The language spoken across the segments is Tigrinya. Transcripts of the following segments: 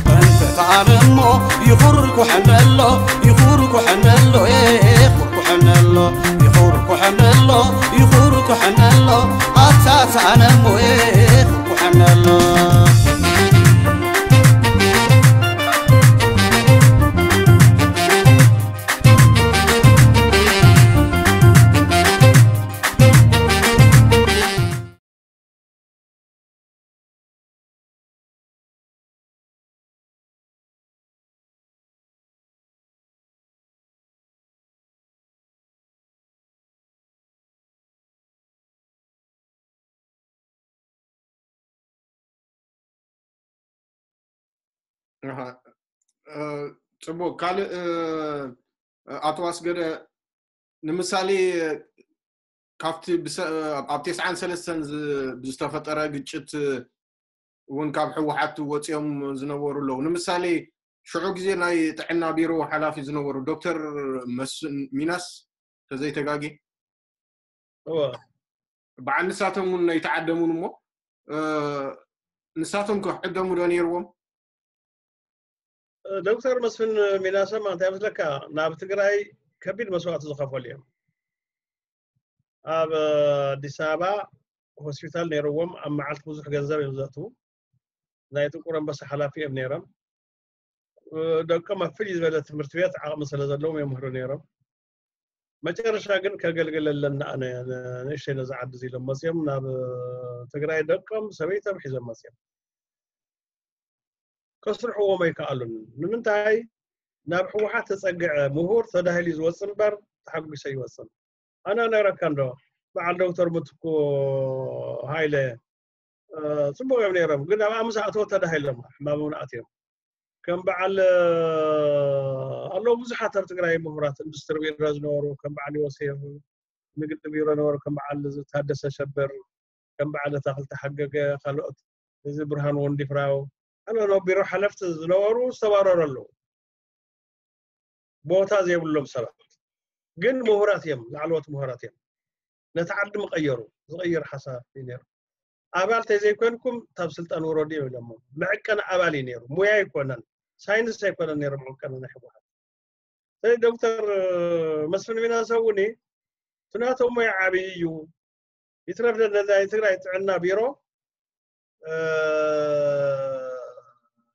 መንፈታን እሞ ይኹርኩሐነሎ፣ ይኹርኩሐነሎ፣ ይኹርኩሐነሎ፣ ይኹርኩሐነሎ፣ ይኹርኩሐነሎ፣ ኣታ ሰኣነ እሞ ይኹርኩሐነሎ። ኣሃ። እ፣ ጽቡቅ። ካልእ፣ እ፣ ኣቶ ኣስገደ፣ ንምሳሌ፣ ካብቲ ብሰ-፣ ኣብ ተስዓን ሰለስተን ዝ-፣ ብዝተፈጠረ ግጭት እውን ካብ ህወሓት ወፂኦም ዝነበሩ ኣለዉ። ንምሳሌ፣ ሽዑ ግዜ ናይ ጥዕና ቢሮ ሓላፊ ዝነበሩ ዶክተር መስፍን ሚናስ፣ ተዘይተጋጌ፣ እወ። በዓል ንሳቶም እውን ኣይተዓደሙን እሞ፣ እ፣ ንሳቶም ከ ዕደሙ ዶ ነይርዎም? ዶክተር መስፍን ሚናሰማ እንታይ መስለካ፣ ናብ ትግራይ ከቢድ መስዋእቲ ዝኸፈሉ እዮም። ኣብ ኣዲስ ኣበባ ሆስፒታል ነይርዎም፣ ኣብ መዓልቲ ብዙሕ ገንዘብ እዮም ዘእትዉ። ናይ ጥቁር ኣንበሳ ሓላፊ እዮም ነይሮም። ደቆም ኣብ ፍልይ ዝበለ ትምህርቲ ቤት ዓቕሚ ስለ ዘለዎም የምህሩ ነይሮም። መጨረሻ ግን ከገልግለለን ኣነ ንእሽተይ ነዛ ዓዲ እዚ ኢሎም መፅዮም ናብ ትግራይ ደቆም ሰበይቶም ሒዞም መፅዮም። ከስርሕዎም ኣይከኣሉን። ንምንታይ? ናብ ህወሓት ተፀግዐ ምሁር ተዳሂሉ ዝወፅ እምበር ተሓጒሰ ይወፅን። ኣነ ነረካ እንዶ በዓል ዶክተር ምትኩ ሃይለ፣ እ፣ ፅቡቅ እዮም ነይሮም፣ ግን ኣብኣ ምስ ኣተወ ተዳሂሎም ሕማሞም ኣትዮም። ከም በዓል፣ እ፣ ኣለዉ ብዙሓት ኣብ ትግራይ ምሁራት ኢንዱስትሪ ቢሮ ዝነበሩ፣ ከም በዓል ዮሴፍ ንግዲ ቢሮ ነበሩ፣ ከም በዓል ታደሰ ሸበር፣ ከም በዓል ኣታኽልቲ ሓገገ፣ ካልኦት፣ እዚ ብርሃን ወንዲፍራው፣ ካልኦት ኣብ ቢሮ ሓለፍቲ ዝነበሩ ዝተባረሩ ኣለዉ። ቦታ ዘይብሎም ሰባት ግን ምሁራት እዮም፣ ላዕለዎት ምሁራት እዮም። ነቲ ዓዲ ምቐየሩ፣ ዝቐይር ሓሳብ እዩ ነይሩ። ኣባል ተዘይኮንኩም ካብ ስልጣን ውረዱ እዮም ኢሎሞ። መዕቀኒ ኣባል እዩ ነይሩ፣ ሙያ ኣይኮነን፣ ሳይንስ ኣይኮነን ነይሩ መዕቀኒ ናይ ህወሓት። ስለዚ ዶክተር መስፍን ሚናሰ እውን እቲ ናቶም ሞያ ዓብዪ እዩ። ይትረፍ ደ-፣ ናይ ትግራይ ጥዕና ቢሮ፣ እ፣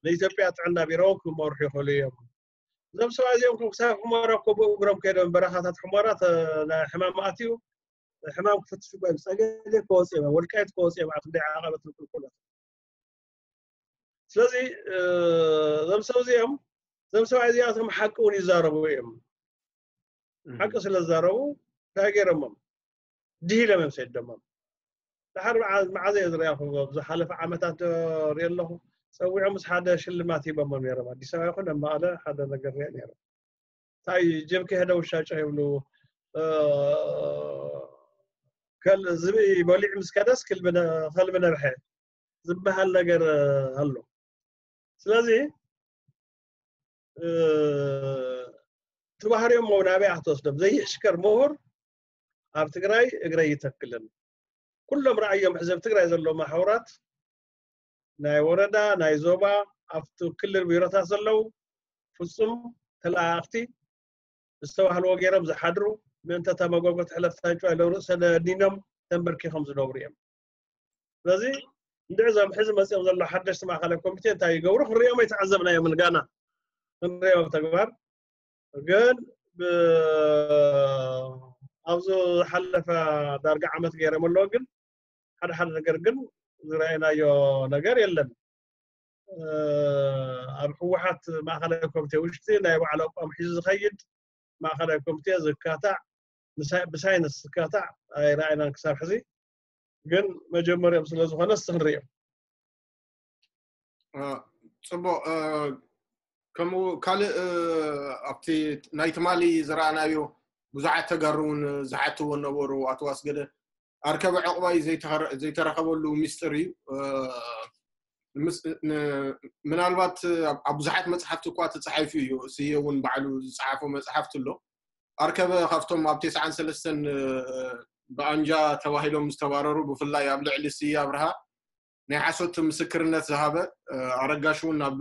ንኢትዮጵያ ጥዕና ቢሮ ክመርሑ ይኽእሉ እዮም። እዞም ሰባት እዚኦም እኮ ክሳብ ሑመራ እኮ ብእግሮም ከይዶም በረኻታት ሑመራ ተ-፣ ናይ ሕማም ኣትዩ ሕማም ክፍትሹ እኮ እዮም። ጸገዴ ከወጽኡ እዮም፣ ወልቃይት ከወጽኡ እዮም፣ ኣብ ክንደይ ዓቐበት ንቁልቁለት። ስለዚ፣ እ፣ እዞም ሰብ እዚኦም፣ እዞም ሰብኣይ እዚኣቶም ሓቂ እውን ይዛረቡ እዮም። እም። ሓቂ ስለ ዝዛረቡ እንታይ ገይሮሞም? ድሂሎም እዮም ሰደሞም። ድሓር መዓ-፣ መዓዘ እየ ዝሪኣኹም? ኣብ ዝሓለፈ ዓመታት ዶ ሪኦ ኣለኹ? ጸዊዖም ምስ ሓደ ሽልማት ሂቦሞም ነይሮም። ኣዲስ ኣበባ ይኹን ኣብ መቐለ ሓደ ነገር ሪአ ነይሮም። እንታይ ጀብኪ ሄደ ውሻ ጨው ይብሉ፣ እ፣ ከል-፣ ዝብኢ በሊዑ ምስ ከደስ ክልቢ ነ-፣ ከልቢ ነብሐ ዝበሃል ነገር ኣሎ። ስለዚ፣ እ፣ እቲ ባህሪኦም እውን ናበይ ኣትወስዶም? ዘይሕሽከር ምሁር ኣብ ትግራይ እግረይ ይተክልን። ኩሎም ረኣዮም ሕዚ ኣብ ትግራይ ዘለዉ ማሕበራት ናይ ወረዳ፣ ናይ ዞባ፣ ኣብቲ ክልል ቢሮታት ዘለዉ ፍጹም ተለኣኣኽቲ፣ ዝተባህልዎ ገይሮም ዝሓድሩ፣ ምእንተ እታ መጎጎ ትሕለፍ ታንጭዋ ኢሎም ርእሰ ደኒኖም ተንበርኪኾም ዝነብሩ እዮም። ስለዚ እንድዒ እዞም ሕዚ መጺኦም ዘለዉ ሓደሽቲ ማእኸላይ ኮሚቴ እንታይ ይገብሩ ክንሪኦም ኣይተዓዘብናዮምን፣ ጋና ክንሪኦም ኣብ ተግባር። ግን ብ-፣ ኣብዚ ዝሓለፈ ዳርጋ ዓመት ገይሮም ኣለዉ፣ ግን ሓደ ሓደ ነገር ግን ዝረኣይናዮ ነገር የለን። እ፣ ኣብ ህወሓት ማእኸላይ ኮሚቴ ውሽጢ ናይ ባዕሉ ኣቋም ሒዙ ዝኸይድ ማእኸላይ ኮሚቴ ዝካታዕ፣ ብሳይ-፣ ብሳይንስ ዝካታዕ ኣይረኣይናን ክሳብ ሕዚ። ግን መጀመሪኦም ስለ ዝኾነ እስቲ ክንሪኦ። እ፣ ጽቡቕ። እ፣ ከምኡ ካልእ፣ እ፣ ኣብቲ ናይ ትማሊ ዝረኣናዮ ብዙሓት ተጋሩ እውን ዝሓትዎ ነበሩ። ኣቶ ኣስገደ፣ ኣርከበ ዕቑባይ ዘይተኸረ-፣ ዘይተረኸበሉ ሚስጥር እዩ። እ፣ ምስ-፣ ን-፣ ምናልባት ኣብ፣ ኣብ ብዙሓት መጽሓፍቲ እኳ ተጻሒፉ እዩ። ስየ እውን ባዕሉ ዝጸሓፎ መጽሓፍቲ ኣሎ። ኣርከበ ካብቶም ኣብ ተስዓን ሰለስተን፣ እ፣ ብኣንጃ ተባሂሎም ዝተባረሩ፣ ብፍላይ ኣብ ልዕሊ ስየ ኣብርሃ ናይ ሓሶት ምስክርነት ዝሃበ ኣረጋሽ እውን ናብ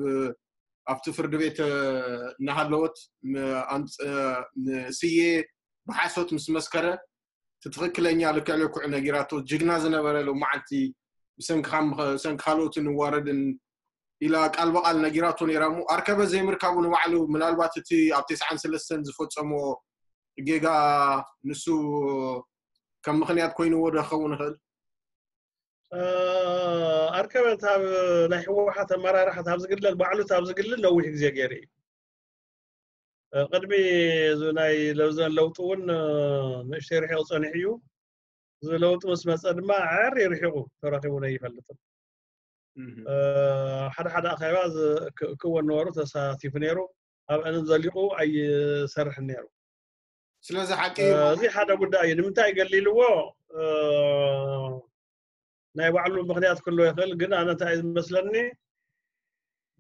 ኣብቲ ፍርዲ ቤት እናሃለወት ንስየ ብሓሶት ምስ መስከረ እቲ ትኽክለኛ ልክዕ ልክዕ ነጊራቶ። ጅግና ዝነበረ ሎመዓልቲ ብሰንኪ ካልኦት ንዋረድን ኢላ ቃል ብቓል ነጊራቶ ነይራ እሞ ኣርከበ ዘይምርካቡ ንባዕሉ ምናልባት እቲ ኣብ ተስዓን ሰለስተን ዝፈፀሞ ጌጋ ንሱ ከም ምኽንያት ኮይንዎ ዶ ክኸውን ይኽእል? ኣርከበ ኣብ ናይ ህወሓት ኣመራርሓ ኣብ ዝግለል ባዕሉ ኣብ ዝግልል ነዊሕ ግዜ ገይሩ እዩ። ቅድሚ እዚ ናይ ለውዘን ለውጢ እውን ንእሽተይ ርሒቑ ፀኒሑ እዩ። እዚ ለውጢ ምስ መፀ ድማ ዓር ርሒቑ ተረኺቡ ኣይፈልጥን። ሓደ ሓደ ኣኼባ ክወን ነበሩ ተሳቲፉ ነይሩ። ኣብአንን ዘሊቑ ኣይሰርሕን ነይሩ። ስለዚ ሓቂ እዚ ሓደ ጉዳይ እዩ። ንምንታይ ገሊልዎ ናይ ባዕሉ ምክንያት ክህልዎ ይኽእል። ግን ኣነ እንታይ እዩ ዝመስለኒ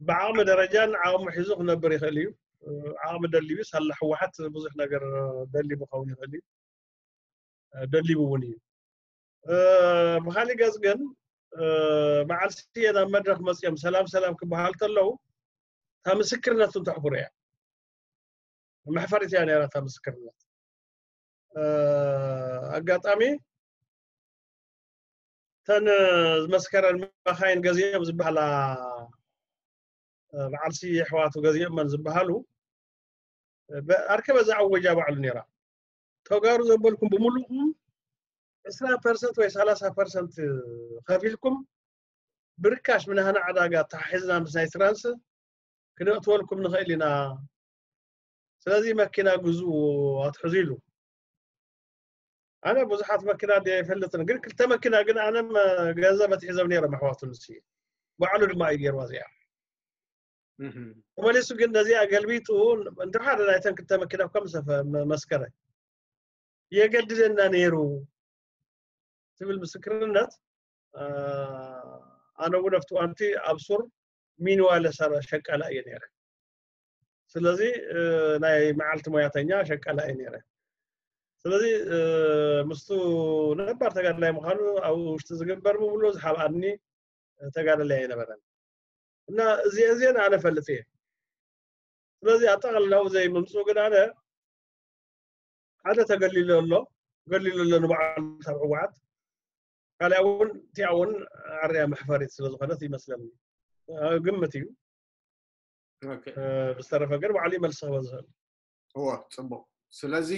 ብዓቕሚ ደረጃን ዓቕሙ ሒዙ ክነብር ይኽእል እዩ። ዓቕሚ ደልዩ ሳላ ህወሓት ብዙሕ ነገር ደልዩ ክኸውን ይኽእል እዩ። ደሊቡ እውን እዩ። ብካሊእ ገፅ ግን በዓል ስየ ናብ መድረክ መፅኦም ሰላም ሰላም ክበሃል ከለዉ እታ ምስክርነቱ ተሕፍሮ እያ። መሕፈሪት እያ ነይራ እታ ምስክርነት። ኣጋጣሚ እተን ዝመስከረን መኻይን ገዚኦም ዝበሃላ በዓል ስየ ኣሕዋቱ ገዚኦመን ዝበሃሉ ኣርከበ ዝኣወጃ ባዕሉ ነይራ። ተጋሩ ዘበልኩም ብምሉእኩም ዕስራ ፐርሰንት ወይ ሰላሳ ፐርሰንት ከፊልኩም ብርካሽ ምናህና ዕዳጋ ተሓሒዝና ምስ ናይ ትራንስ ክነእትወልኩም ንኽእል ኢና። ስለዚ መኪና ግዝኡ ኣትሕዙ ኢሉ። ኣነ ብዙሓት መኪና ድየ ኣይፈልጥን፣ ግን ክልተ መኪና ግን ኣነ ገንዘብ ኣትሒዞም ነይሮም ኣሕዋቱ ንሱ ባዕሉ ድማ እዩ ገይርዋ እዚኣ። ተመሊሱ ግን ነዚኣ ገልቢጡ እንተ ሓደ ናይተን ክልተ መኪና ከም መስከረ የገድደና ነይሩ ትብል ምስክርነት ኣነ እውን ኣብቲ እዋንቲ ኣብ ሱር ሚንዋለ ሸቃላ እየ ነይረ። ስለዚ ናይ መዓልቲ ሞያተኛ ሸቃላ እየ ነይረ። ስለዚ ምስቱ ነባር ተጋድላይ ምዃኑ ኣብ ውሽጢ ዝግበር ብምሉ ዝሓብኣኒ ተጋዳላይ ኣይነበረን እና እዚአን እዚአን ኣነ ፈልጥ እየ። ስለዚ ኣጠቓልላዊ ዘይምምፅኡ ግን ኣነ ሓደ ተገሊሉ ኣሎ፣ ገሊሉ ኣሎ ንባዕሉ ካብ ህወሓት ካልኣ እውን እቲኣ እውን ዓርያ መሕፈሪት ስለ ዝኾነት ይመስለኒ። ግምት እዩ። ብዝተረፈ ግን ባዕሉ ይመልስ ክበ ዝኽእል። እወ፣ ፅቡቕ። ስለዚ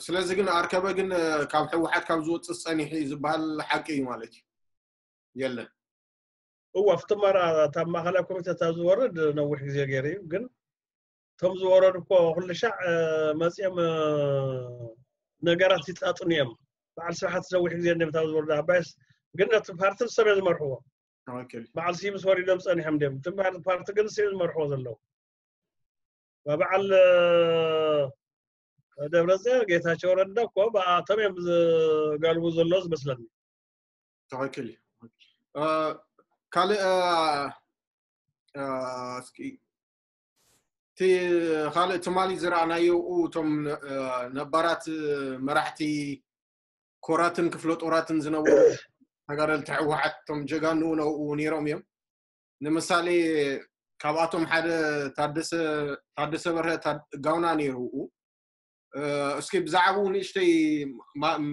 ስለዚ ግን ኣርከበ ግን ካብ ህወሓት ካብ ዝወፅእ ፀኒሑ እዩ ዝበሃል ሓቂ እዩ ማለት እዩ? የለን። እወ፣ ኣብቲ መራ እታ ማእኸላይ ኮሚቴ እታ ዝወርድ ነዊሕ ግዜ ገይሩ እዩ። ግን እቶም ዝወረዱ እኮ ኩሉ ሻዕ መፂኦም ነገራት ይፃጥኑ እዮም። በዓል ስብሓት ነዊሕ ግዜ እንዲም እታ ዝወርዱ ኣባይስ ግን ነቲ ፓርቲ ንሶም እዮም ዝመርሕዎ። በዓል ስዩምስ ወሪዶም ፀኒሖም እንዲም እቲ ፓርቲ ግን ንሶም ዝመርሕዎ ዘለዉ። በዓል ደብረፅዮን ጌታቸው ረዳ እኮ ብኣቶም እዮም ዝጋልቡ ዘሎ ዝመስለኒ። ትኽክል እዩ። ካልእ እስኪ እቲ ካልእ ትማሊ ዝረኣናዮ እቶም ነባራት መራሕቲ ኮራትን ክፍለ ጦራትን ዝነበሩ ተጋደልቲ ህወሓት እቶም ጀጋኑ ነብኡ ነይሮም እዮም። ንምሳሌ ካብኣቶም ሓደ ታደሰ በርሀ ጋውና ነይሩ። እስኪ ብዛዕባኡ ንእሽተይ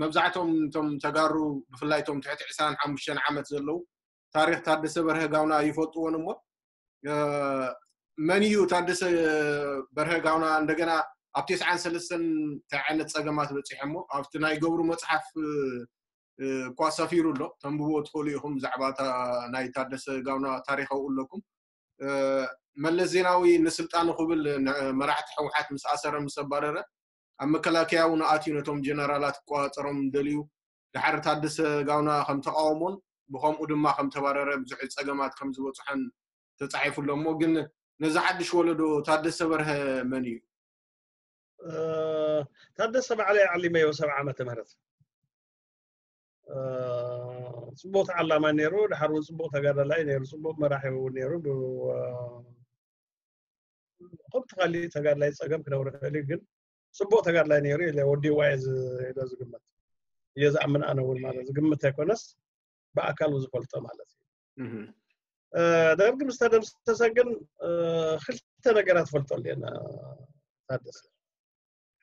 መብዛሕቶም እቶም ተጋሩ ብፍላይ እቶም ትሕቲ ዕስራን ሓሙሽተን ዓመት ዘለዉ ታሪክ ታደሰ በርሀ ጋውና ይፈልጥዎን እሞ መን እዩ ታደሰ በርሀ ጋውና እንደገና ኣብ ተስዓን ሰለስተን እንታይ ዓይነት ፀገማት በፂሖሞ ኣብቲ ናይ ገብሩ መፅሓፍ እኳ ሰፊሩ ኣሎ። ተንብቦ ትኽእሉ ኢኹም ብዛዕባ ናይ ታደሰ ጋውና ታሪካዊ ኣለኩም። መለስ ዜናዊ ንስልጣኑ ክብል መራሕቲ ህወሓት ምስ ኣሰረ ምስ ኣባረረ ኣብ መከላከያ እውን ኣትዩ ነቶም ጀነራላት ክቆፃፀሮም ደልዩ ድሓር ታደሰ ጋውና ከም ተቃወሞን ብከምኡ ድማ ከም ተባረረ ብዙሕ ፀገማት ከም ዝበፅሖን ተፃሒፉ ኣሎ እሞ ግን ነዚ ሓድሽ ወለዶ ታደሰ በርሀ መን እዩ? ታደሰ ባዕለይ ዓሊመዮ ሰብዓ ዓመተ ምህረት። ጽቡቕ ተዓላማይ ነይሩ፣ ድሓር እውን ጽቡቕ ተጋዳላይ ነይሩ፣ ጽቡቕ መራሒ እውን ነይሩ። ከምቲ ካሊእ ተጋዳላይ ጸገም ክነብር ይኽእል እዩ፣ ግን ጽቡቕ ተጋዳላይ ነይሩ ኢለ ወዲእዋ እየ ኢለ ዝግመት እየ ዝኣምን። ኣነ እውን ማለት ዝግምት ኣይኮነስ ብኣካል ዝፈልጦ ማለት እዩ። ደርግ ምስ ተደምሰሰ ግን ክልተ ነገራት ፈልጠሉ እየን። ታደሰ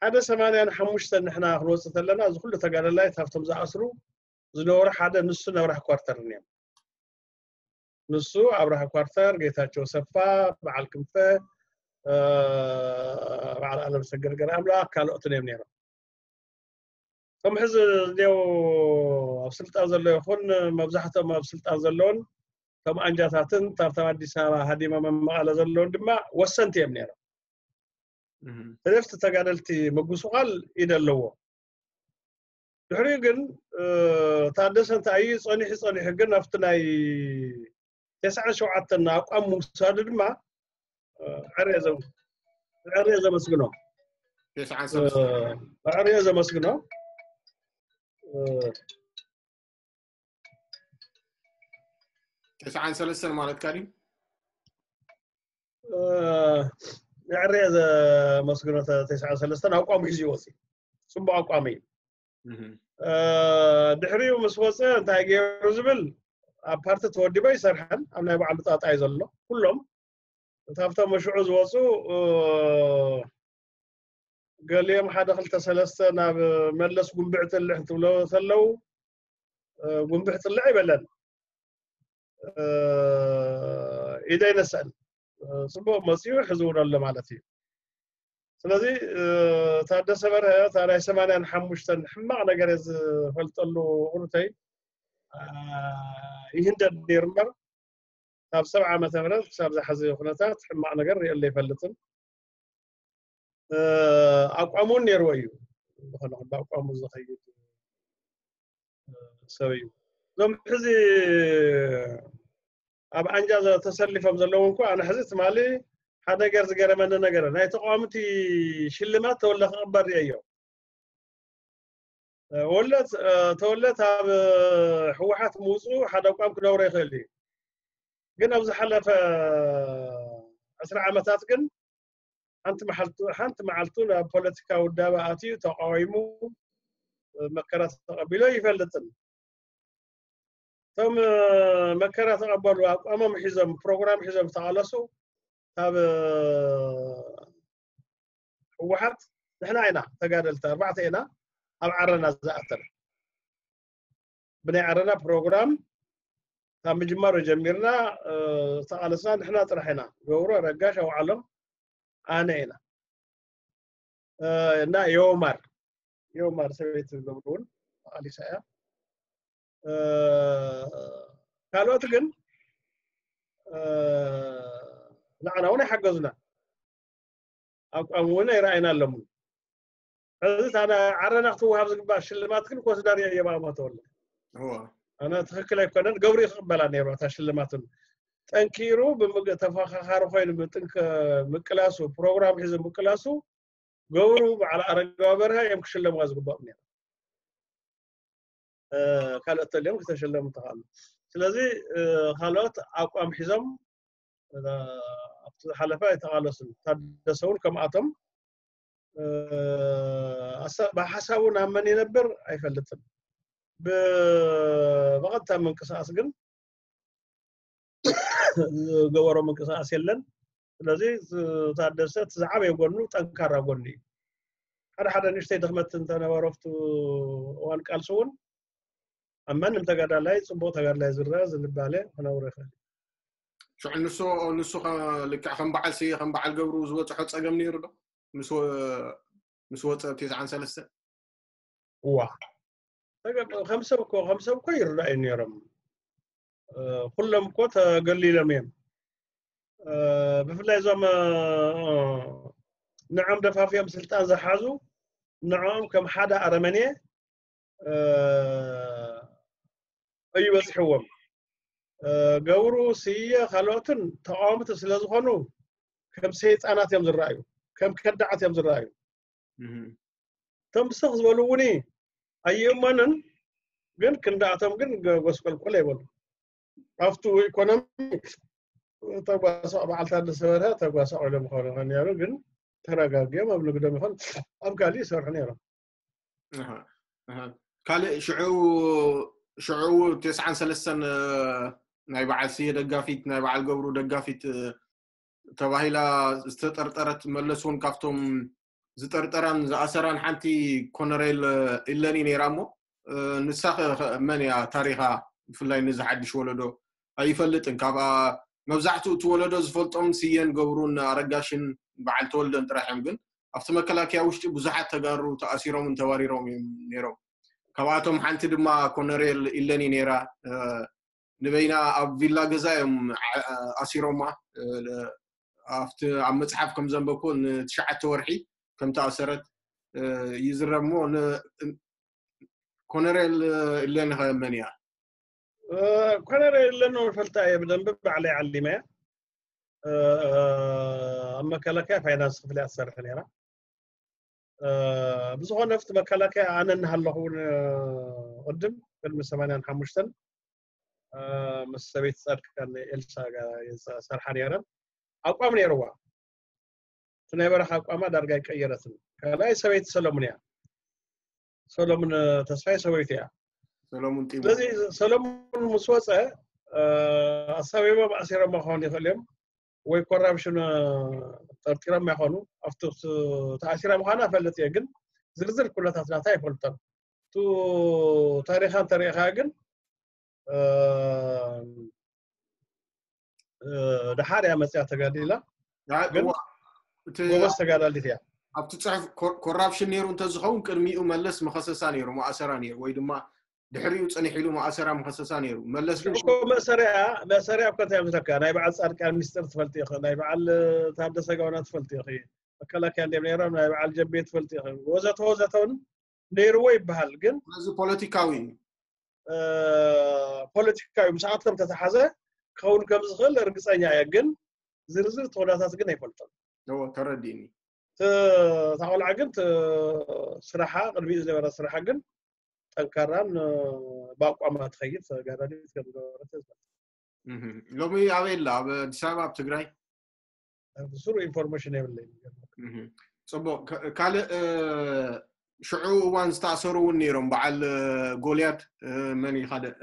ሓደ ሰማንያን ሓሙሽተን ንሕና ክንወፅእ ተለና እዚ ኩሉ ተጋደላይ ካብቶም ዝኣስሩ ዝነበሩ ሓደ ንሱ ኣብራህ ኳርተር እዮም። ንሱ ኣብራህ ኳርተር፣ ጌታቸው ሰፋ፣ በዓል ክንፈ፣ በዓል ኣለም ሰገድ ገርኣምላክ ካልኦትን እዮም ነይሮም። እቶም ሕዚ እዚው ኣብ ስልጣን ዘሎ ይኹን መብዛሕትኦም ኣብ ስልጣን ዘለውን እቶም ኣንጃታትን ታብታብ ኣዲስ ኣበባ ሃዲሞም ኣብ መቐለ ዘለውን ድማ ወሰንቲ እዮም ነይሮም። ህደፍቲ ተጋደልቲ ምጉስቋል ኢደ ኣለዎ። ድሕሪኡ ግን ታደሰ እንታይ እዩ ጸኒሑ ጸኒሑ ግን ኣብቲ ናይ ተስዓን ሸውዓተን ኣቋም ምውሳዱ ድማ ዕርየ ዘመስግኖ። ዕርየ ዘመስግኖ። ተስዓን ሰለስተን ማለትካ ድዩ? ዕርየ ዘመስግኖ። ተስዓን ሰለስተን ኣቋሙ ሒዙ ይወፅእ። ፅቡቅ ኣቋም እዩ። ድሕሪኡ ምስ ወፀ እንታይ ገይሩ ዝብል ኣብ ፓርቲ ተወዲቦ ይሰርሐን ኣብ ናይ ባዕሉ ጣጣ እዩ ዘሎ። ኩሎም እታብቶም ሽዑ ዝወፁ ገሊኦም ሓደ ክልተ ሰለስተ ናብ መለስ ጉንብዕ ጥልሕ እንትብሎ ተለው ጉንብዕ ጥልሕ ይበለን። ኢደ ይነስአን። ፅቡቅ መፅኡ ሕዚ እውን ኣሎ ማለት እዩ። ስለዚ ታደሰ በርሀ እታ ናይ ሰማንያን ሓሙሽተን ሕማቕ ነገር እየ ዝፈልጠሉ። ቁርተይ ይህንደድ ነይሩ እምበር ካብ ሰብዓ ዓመተ ምህረት ክሳብ ዝሓዘ ኩነታት ሕማቕ ነገር ርእየሉ ኣይፈልጥን። ኣቋሙ እውን ነይርዎ እዩ። ዝኾነ ብኣቋሙ ዝኸይድ ሰብ እዩ። እዞም ሕዚ ኣብ ኣንጃ ተሰሊፎም ዘለዉ እንኳ ኣነ ሕዚ ትማሊ ሓደ ነገር ዝገረመኒ ነገር ናይ ተቃዋምቲ ሽልማት ተወለ ክቕበል ርእየዮ። ወለት ተወለት ኣብ ህወሓት ምውፅኡ ሓደ ኣቋም ክነብሮ ይኽእል እዩ። ግን ኣብ ዝሓለፈ ዕስራ ዓመታት ግን ሓንቲ መዓልቱ ሓንቲ መዓልቱ ናብ ፖለቲካ ውዳበ ኣትዩ ተቃዊሙ መከራ ተቐቢሎ ይፈልጥን። እቶም መከራ ተቐበሉ ኣቋሞም ሒዞም ፕሮግራም ሒዞም ዝተቓለሱ ካብ ህወሓት ንሕና ኢና ተጋደልቲ ኣርባዕተ ኢና ኣብ ዓረና ዝኣተና። ብናይ ዓረና ፕሮግራም ካብ ምጅማሩ ጀሚርና ዝተቓለስና ንሕና ጥራሕ ኢና። ገብሩ፣ ረጋሽ፣ ኣውዓሎም፣ ኣነ ኢና እና የውማር የውማር ሰበይቲ ገብሩ እውን ተቓሊሳ እያ። ካልኦት ግን ንዓና እውን ኣይሓገዙና። ኣቋም እውን ኣይረኣይና ኣለሙን። ሕዚ ታዲያ ዓረና ክትወሃብ ዝግባእ ሽልማት ግን ኮስዳር የየባማ ተወለ። ኣነ ትኽክል ኣይኮነን። ገብሩ ክቕበላ ነይሩ እታ ሽልማትን ጠንኪሩ ተፈኻኻሪ ኮይኑ ምጥንከ ምቅላሱ ፕሮግራም ሒዙ ምቅላሱ ገብሩ በዓል ኣረጋዊ በርሀ እዮም ክሽለሙዋ ዝግባኦም ነይሩ። ካልኦት ተልዮም ክተሸለሙ ተኻሉ። ስለዚ ካልኦት ኣቋም ሒዞም ኣብቲ ዝሓለፈ ኣይተቓለሱን። ታደሰ እውን ከምኣቶም ብሓሳቡ ናብ መን ይነብር ኣይፈልጥን። ብቐጥታ ምንቅስቃስ ግን ዝገበሮ ምንቅስቃስ የለን። ስለዚ ታደሰ እቲ ዝዓበየ ጎኑ ጠንካራ ጎኑ እዩ። ሓደ ሓደ ንእሽተይ ድኽመት እንተነበሮ ኣብቲ እዋን ቃልሲ እውን ኣብ ማንም ተጋዳላይ ፅቡቅ ተጋዳላይ ዝረአ ዝንባለ ክነብሮ ይኽእል። ሽዑ ንሱ ንሱ ልክዕ ከም በዓል ስየ ከም በዓል ገብሩ ዝበፅሖ ፀገም ነይሩ ዶ? ምስ ወፀ ኣብ ተስዓን ሰለስተን እዋ ከም ሰብ እኮ ከም ሰብ እኮ ይረኣዩ ነይሮም። ኩሎም እኮ ተገሊሎም እዮም። ብፍላይ እዞም ንዖም ደፋፊኦም ስልጣን ዝሓዙ ንዕኦም ከም ሓደ ኣረመኔ እዩ በፂሕዎም። ገብሩ፣ ስየ ካልኦትን ተቃወምቲ ስለዝኾኑ ከም ሰይጣናት እዮም ዝረኣዩ፣ ከም ከዳዓት እዮም ዝረኣዩ። እቶም ብስኽ ዝበሉ እውን ኣይእመኑን፣ ግን ክንዳኣቶም ግን ጎስቆልቆል ኣይበሉ። ኣብቱ ኢኮኖሚ ተጓሳቕ በዓል ታደሰ በርሀ ተጓሳቕ ኢሎም ክኾኑ ነይሩ፣ ግን ተረጋጊኦም ኣብ ንግዶም ይኹን ኣብ ካልእ ይሰርሑ ነይሮም። ካልእ ሽዑ ሽዑ ተስዓን ሰለስተን ናይ በዓል ስየ ደጋፊት፣ ናይ በዓል ገብሩ ደጋፊት ተባሂላ ዝተጠርጠረት መለስ እውን ካብቶም ዝጠርጠራን ዝኣሰራን ሓንቲ ኮነሬል ኢለኒ ነይራ። እሞ ንሳ መን እያ ታሪኻ? ብፍላይ ንዚ ሓድሽ ወለዶ ኣይፈልጥን። ካብኣ መብዛሕትኡ እቲ ወለዶ ዝፈልጦም ስየን ገብሩን ኣረጋሽን በዓል ተወልደን ጥራሕ እዮም። ግን ኣብቲ መከላከያ ውሽጢ ብዙሓት ተጋሩ ተኣሲሮምን ተባሪሮም እዮም ነይሮም። ካብኣቶም ሓንቲ ድማ ኮነሬል ኢለኒ ነይራ። ንበይና ኣብ ቪላ ገዛ እዮም ኣሲሮማ። ኣብቲ ኣብ መፅሓፍ ከም ዘንበብኩ ንትሽዓተ ወርሒ ከም ተኣሰረት ይዝረብ። እሞ ኮነሬል ኢለኒ ከ መን እያ? ኮነሬል ኢለኒ ፈልጣ እየ ብደንብ፣ ባዕለይ ዓሊመ እያ። ኣብ መከላከያ ፋይናንስ ክፍሊ እያ ትሰርሕ ነይራ። ብዝኾነ ኣብቲ መከላከያ ኣነ እናሃለኹ እውን ቅድም ቅድሚ ሰማንያን ሓሙሽተን ምስ ሰበይቲ ፃድቃን ኤልሳ ሰርሓ ነይረን። ኣቋም ነይርዋ። እቲ ናይ በረኻ ኣቋማ ዳርጋ ኣይቀየረትን። ካልኣይ ሰበይቲ ሰለሙን እያ። ሰለሙን ተስፋይ ሰበይቲ እያ። ሰለሙን ጢሙ ስለዚ ሰለሙን ምስ ወፀ ኣሳቢቦም ኣሲሮም ክኾኑ ይኽእል እዮም፣ ወይ ኮራፕሽን ጠርጢሮም ይኾኑ። ኣብቲ ተኣሲራ ምዃና እፈልጥ እየ፣ ግን ዝርዝር ኩነታት ናታ ኣይፈልጦን። እቲ ታሪኻ እንተሪእኻ ግን ደሓር እያ መፅያ ተጋዲላ፣ ግን ጎበዝ ተጋዳሊት እያ። ኣብቲ ፅሑፍ ኮራፕሽን ነይሩ እንተዝኸውን ቅድሚኡ መለስ መኸሰሳ ነይሩ፣ መኣሰራ ነይሩ፣ ወይ ድማ ድሕሪኡ ፅንሕ ኢሉ መኣሰራ መኸሰሳ ነይሩ። መለስ ግን እኮ መእሰሪያ መእሰሪያ እኮ እንታይ ምስለካ፣ ናይ በዓል ፃድቃን ሚስጥር ትፈልጥ ኢኺ፣ ናይ በዓል ታደሰ ጋውና ትፈልጥ ኢኺ፣ መከላከያ እንዲም ነይሮም፣ ናይ በዓል ጀቤ ትፈልጥ ኢኺ፣ ወዘተ ወዘተ እውን ነይርዎ ይበሃል። ግን ስለዚ ፖለቲካዊ እዩ። ፖለቲካዊ ምስኣቶም ተተሓዘ ክኸውን ከም ዝኽእል እርግፀኛ እየ፣ ግን ዝርዝር ተወዳታት ግን ኣይፈልጦም። ተረዲእኒ። እታ ቆልዓ ግን ስራሓ፣ ቅድሚኡ ዝነበረ ስራሓ ግን ጠንካራን ብኣቋማ ትኸይድ ተጋዳሊት ከም ዝነበረት። ሎሚ ኣበይ ኣላ? ኣብ ኣዲስ ኣበባ፣ ኣብ ትግራይ? ብስሩ ኢንፎርሜሽን የብለይ። ፅቡቅ። ካልእ ሽዑ እዋን ዝተኣሰሩ እውን ነይሮም። በዓል ጎልያድ፣ መን እዩ ካልእ?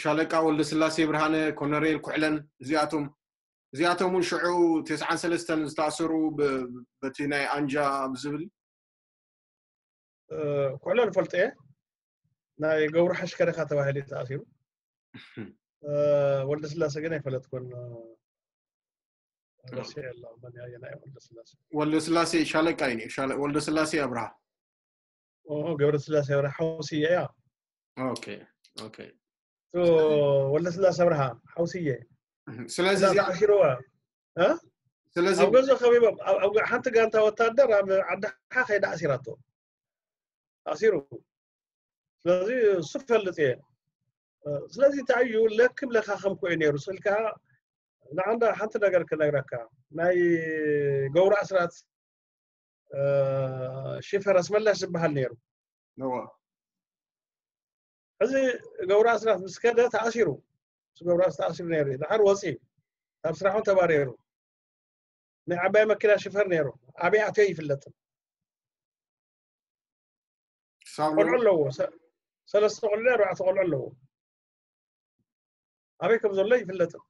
ሻለቃ ወልደስላሴ ብርሃነ፣ ኮነሬል ኩሕለን፣ እዚኣቶም እዚኣቶም እውን ሽዑ ተስዓን ሰለስተን ዝተኣሰሩ በቲ ናይ ኣንጃ ብዝብል ኩሕለን ፈልጠ እየ። ናይ ገብሩ ሓሽከረካ ተባሂሉ ተኣሲሩ። ወልደስላሴ ግን ኣይፈለጥኩን። ረሲዐ ኣለኹ መን እያ ናይ ወልደስላሴ። ወልደስላሴ ሻለቃ እዩ። ወልደስላሴ ኣብርሃ። ገብረስላሴ ኣብርሃ ሓውስየ እያ። ኦኬ ኦኬ። ወልደስላሴ ኣብርሃ ሓውስየ። ስለዚ ኣሲርዋ። ስለዚ ኣብ ገዛ ከቢቦም፣ ኣብ ሓንቲ ጋንታ ወታደር ኣብ ዓዲ ሓ ከይዳ ኣሲራቶ። ኣሲሩ። ስለዚ እሱ ፈልጥ እየ። ስለዚ እንታይ እዩ ለክም ለካኸም ኮዩ ነይሩ ስልካ። ንዓንዳ ሓንቲ ነገር ክነግረካ፣ ናይ ገብሩ ኣስራት ሽፈር ኣስመላሽ ዝበሃል ነይሩ። ሕዚ ገብሩ ኣስራት ምስ ከደ ተኣሲሩ። ምስ ገብሩ ኣስራት ተኣሲሩ ነይሩ። ድሓር ወፂ፣ ካብ ስራሑ ተባሪሩ። ናይ ዓባይ መኪና ሽፈር ነይሩ። ኣበይ ኣትዮ ይፍለጥን። ቆልዑ ኣለዎ። ሰለስተ ቆልዑ፣ ኣርባዕተ ቆልዑ ኣለዎ። ኣበይ ከም ዘሎ ይፍለጥን።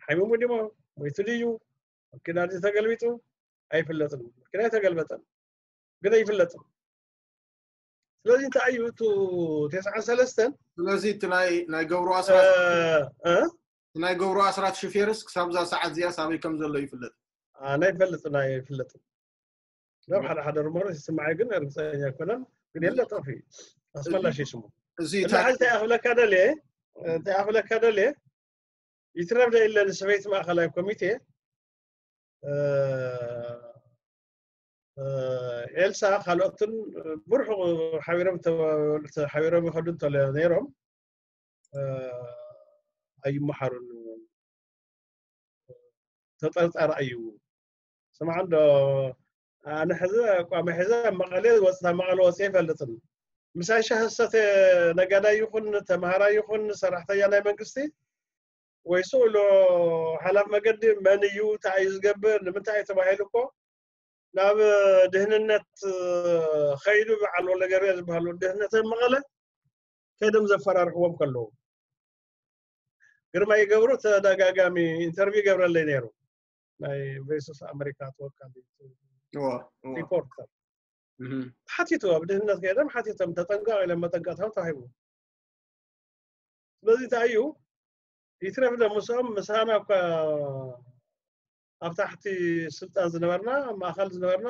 ሓሚሙ ድሞ፣ ሞይቱ ድዩ፣ መኪና ድዩ ተገልቢጡ፣ ኣይፍለጥን። መኪና ኣይተገልበጠን፣ ግን ኣይፍለጥን። ስለዚ እንታይ እዩ፣ እቱ ተስዓን ሰለስተን ስለዚ እቲ ናይ ናይ ገብሩ ኣስራት እ፣ እ? ናይ ገብሩ ኣስራት ሽፌርስ ክሳብ እዛ ሰዓት እዚኣ ሳበይ ከም ዘሎ ይፍለጥ። ኣነ ይፈልጥ ናይ ይፍለጥ። ናብ ሓደ ሓደ ሩመር ይስምዓይ፣ ግን ርግፀኛ ኣይኮነን። ግን የለ ጠፊ ኣስመላሽ ስሙ። እዚ እንታይ ኣኽለካ ደልየ፣ እንታይ ኣኽለካ ደልየ፣ ይትረፍ ደ ኢለ ንሰበይቲ ማእኸላይ ኮሚቴ ኤልሳ ካልኦትን ብርሑቕ ሓቢሮም ሓቢሮም ይኸዱ እንተለ ነይሮም ኣይመሓሩን። ተጠርጣሪ እዩ። ስማዕ እንዶ፣ ኣነ ሕዚ ኣቋመ ሕዚ ኣብ መቐለ ወፅታ መቐለ ወፅየ ይፈልጥን። ምሳይ ሻሂ ዝሰተ ነጋዳይ ይኹን ተምሃራይ ይኹን ሰራሕተኛ ናይ መንግስቲ ወይ ስእሎ ሓላፍ መገዲ መን እዩ፣ እንታይ እዩ ዝገብር፣ ንምንታይ እዩ ተባሂሉ እኮ ናብ ድህንነት ኸይዱ በዓል ወልደገብርኤል ዝበሃሉ ድህነት መቐለ ከይዶም ዘፈራርሕዎም ከለዉ ግርማ ይገብሩ ተደጋጋሚ ኢንተርቪው ይገብረለይ ነይሩ። ናይ ቮይስ ኦፍ ኣሜሪካ ተወካሊ ሪፖርተር ሓቲቱ ኣብ ድህነት ከይዶም ሓቲቶም ተጠንቀቕ ኢሎም መጠንቀቕታዊ ተዋሂቡ። ስለዚ እንታይ እዩ ይትረፍ ዶ ምስኦም ምሳና እኳ ኣብ ታሕቲ ስልጣን ዝነበርና ኣብ ማእኸል ዝነበርና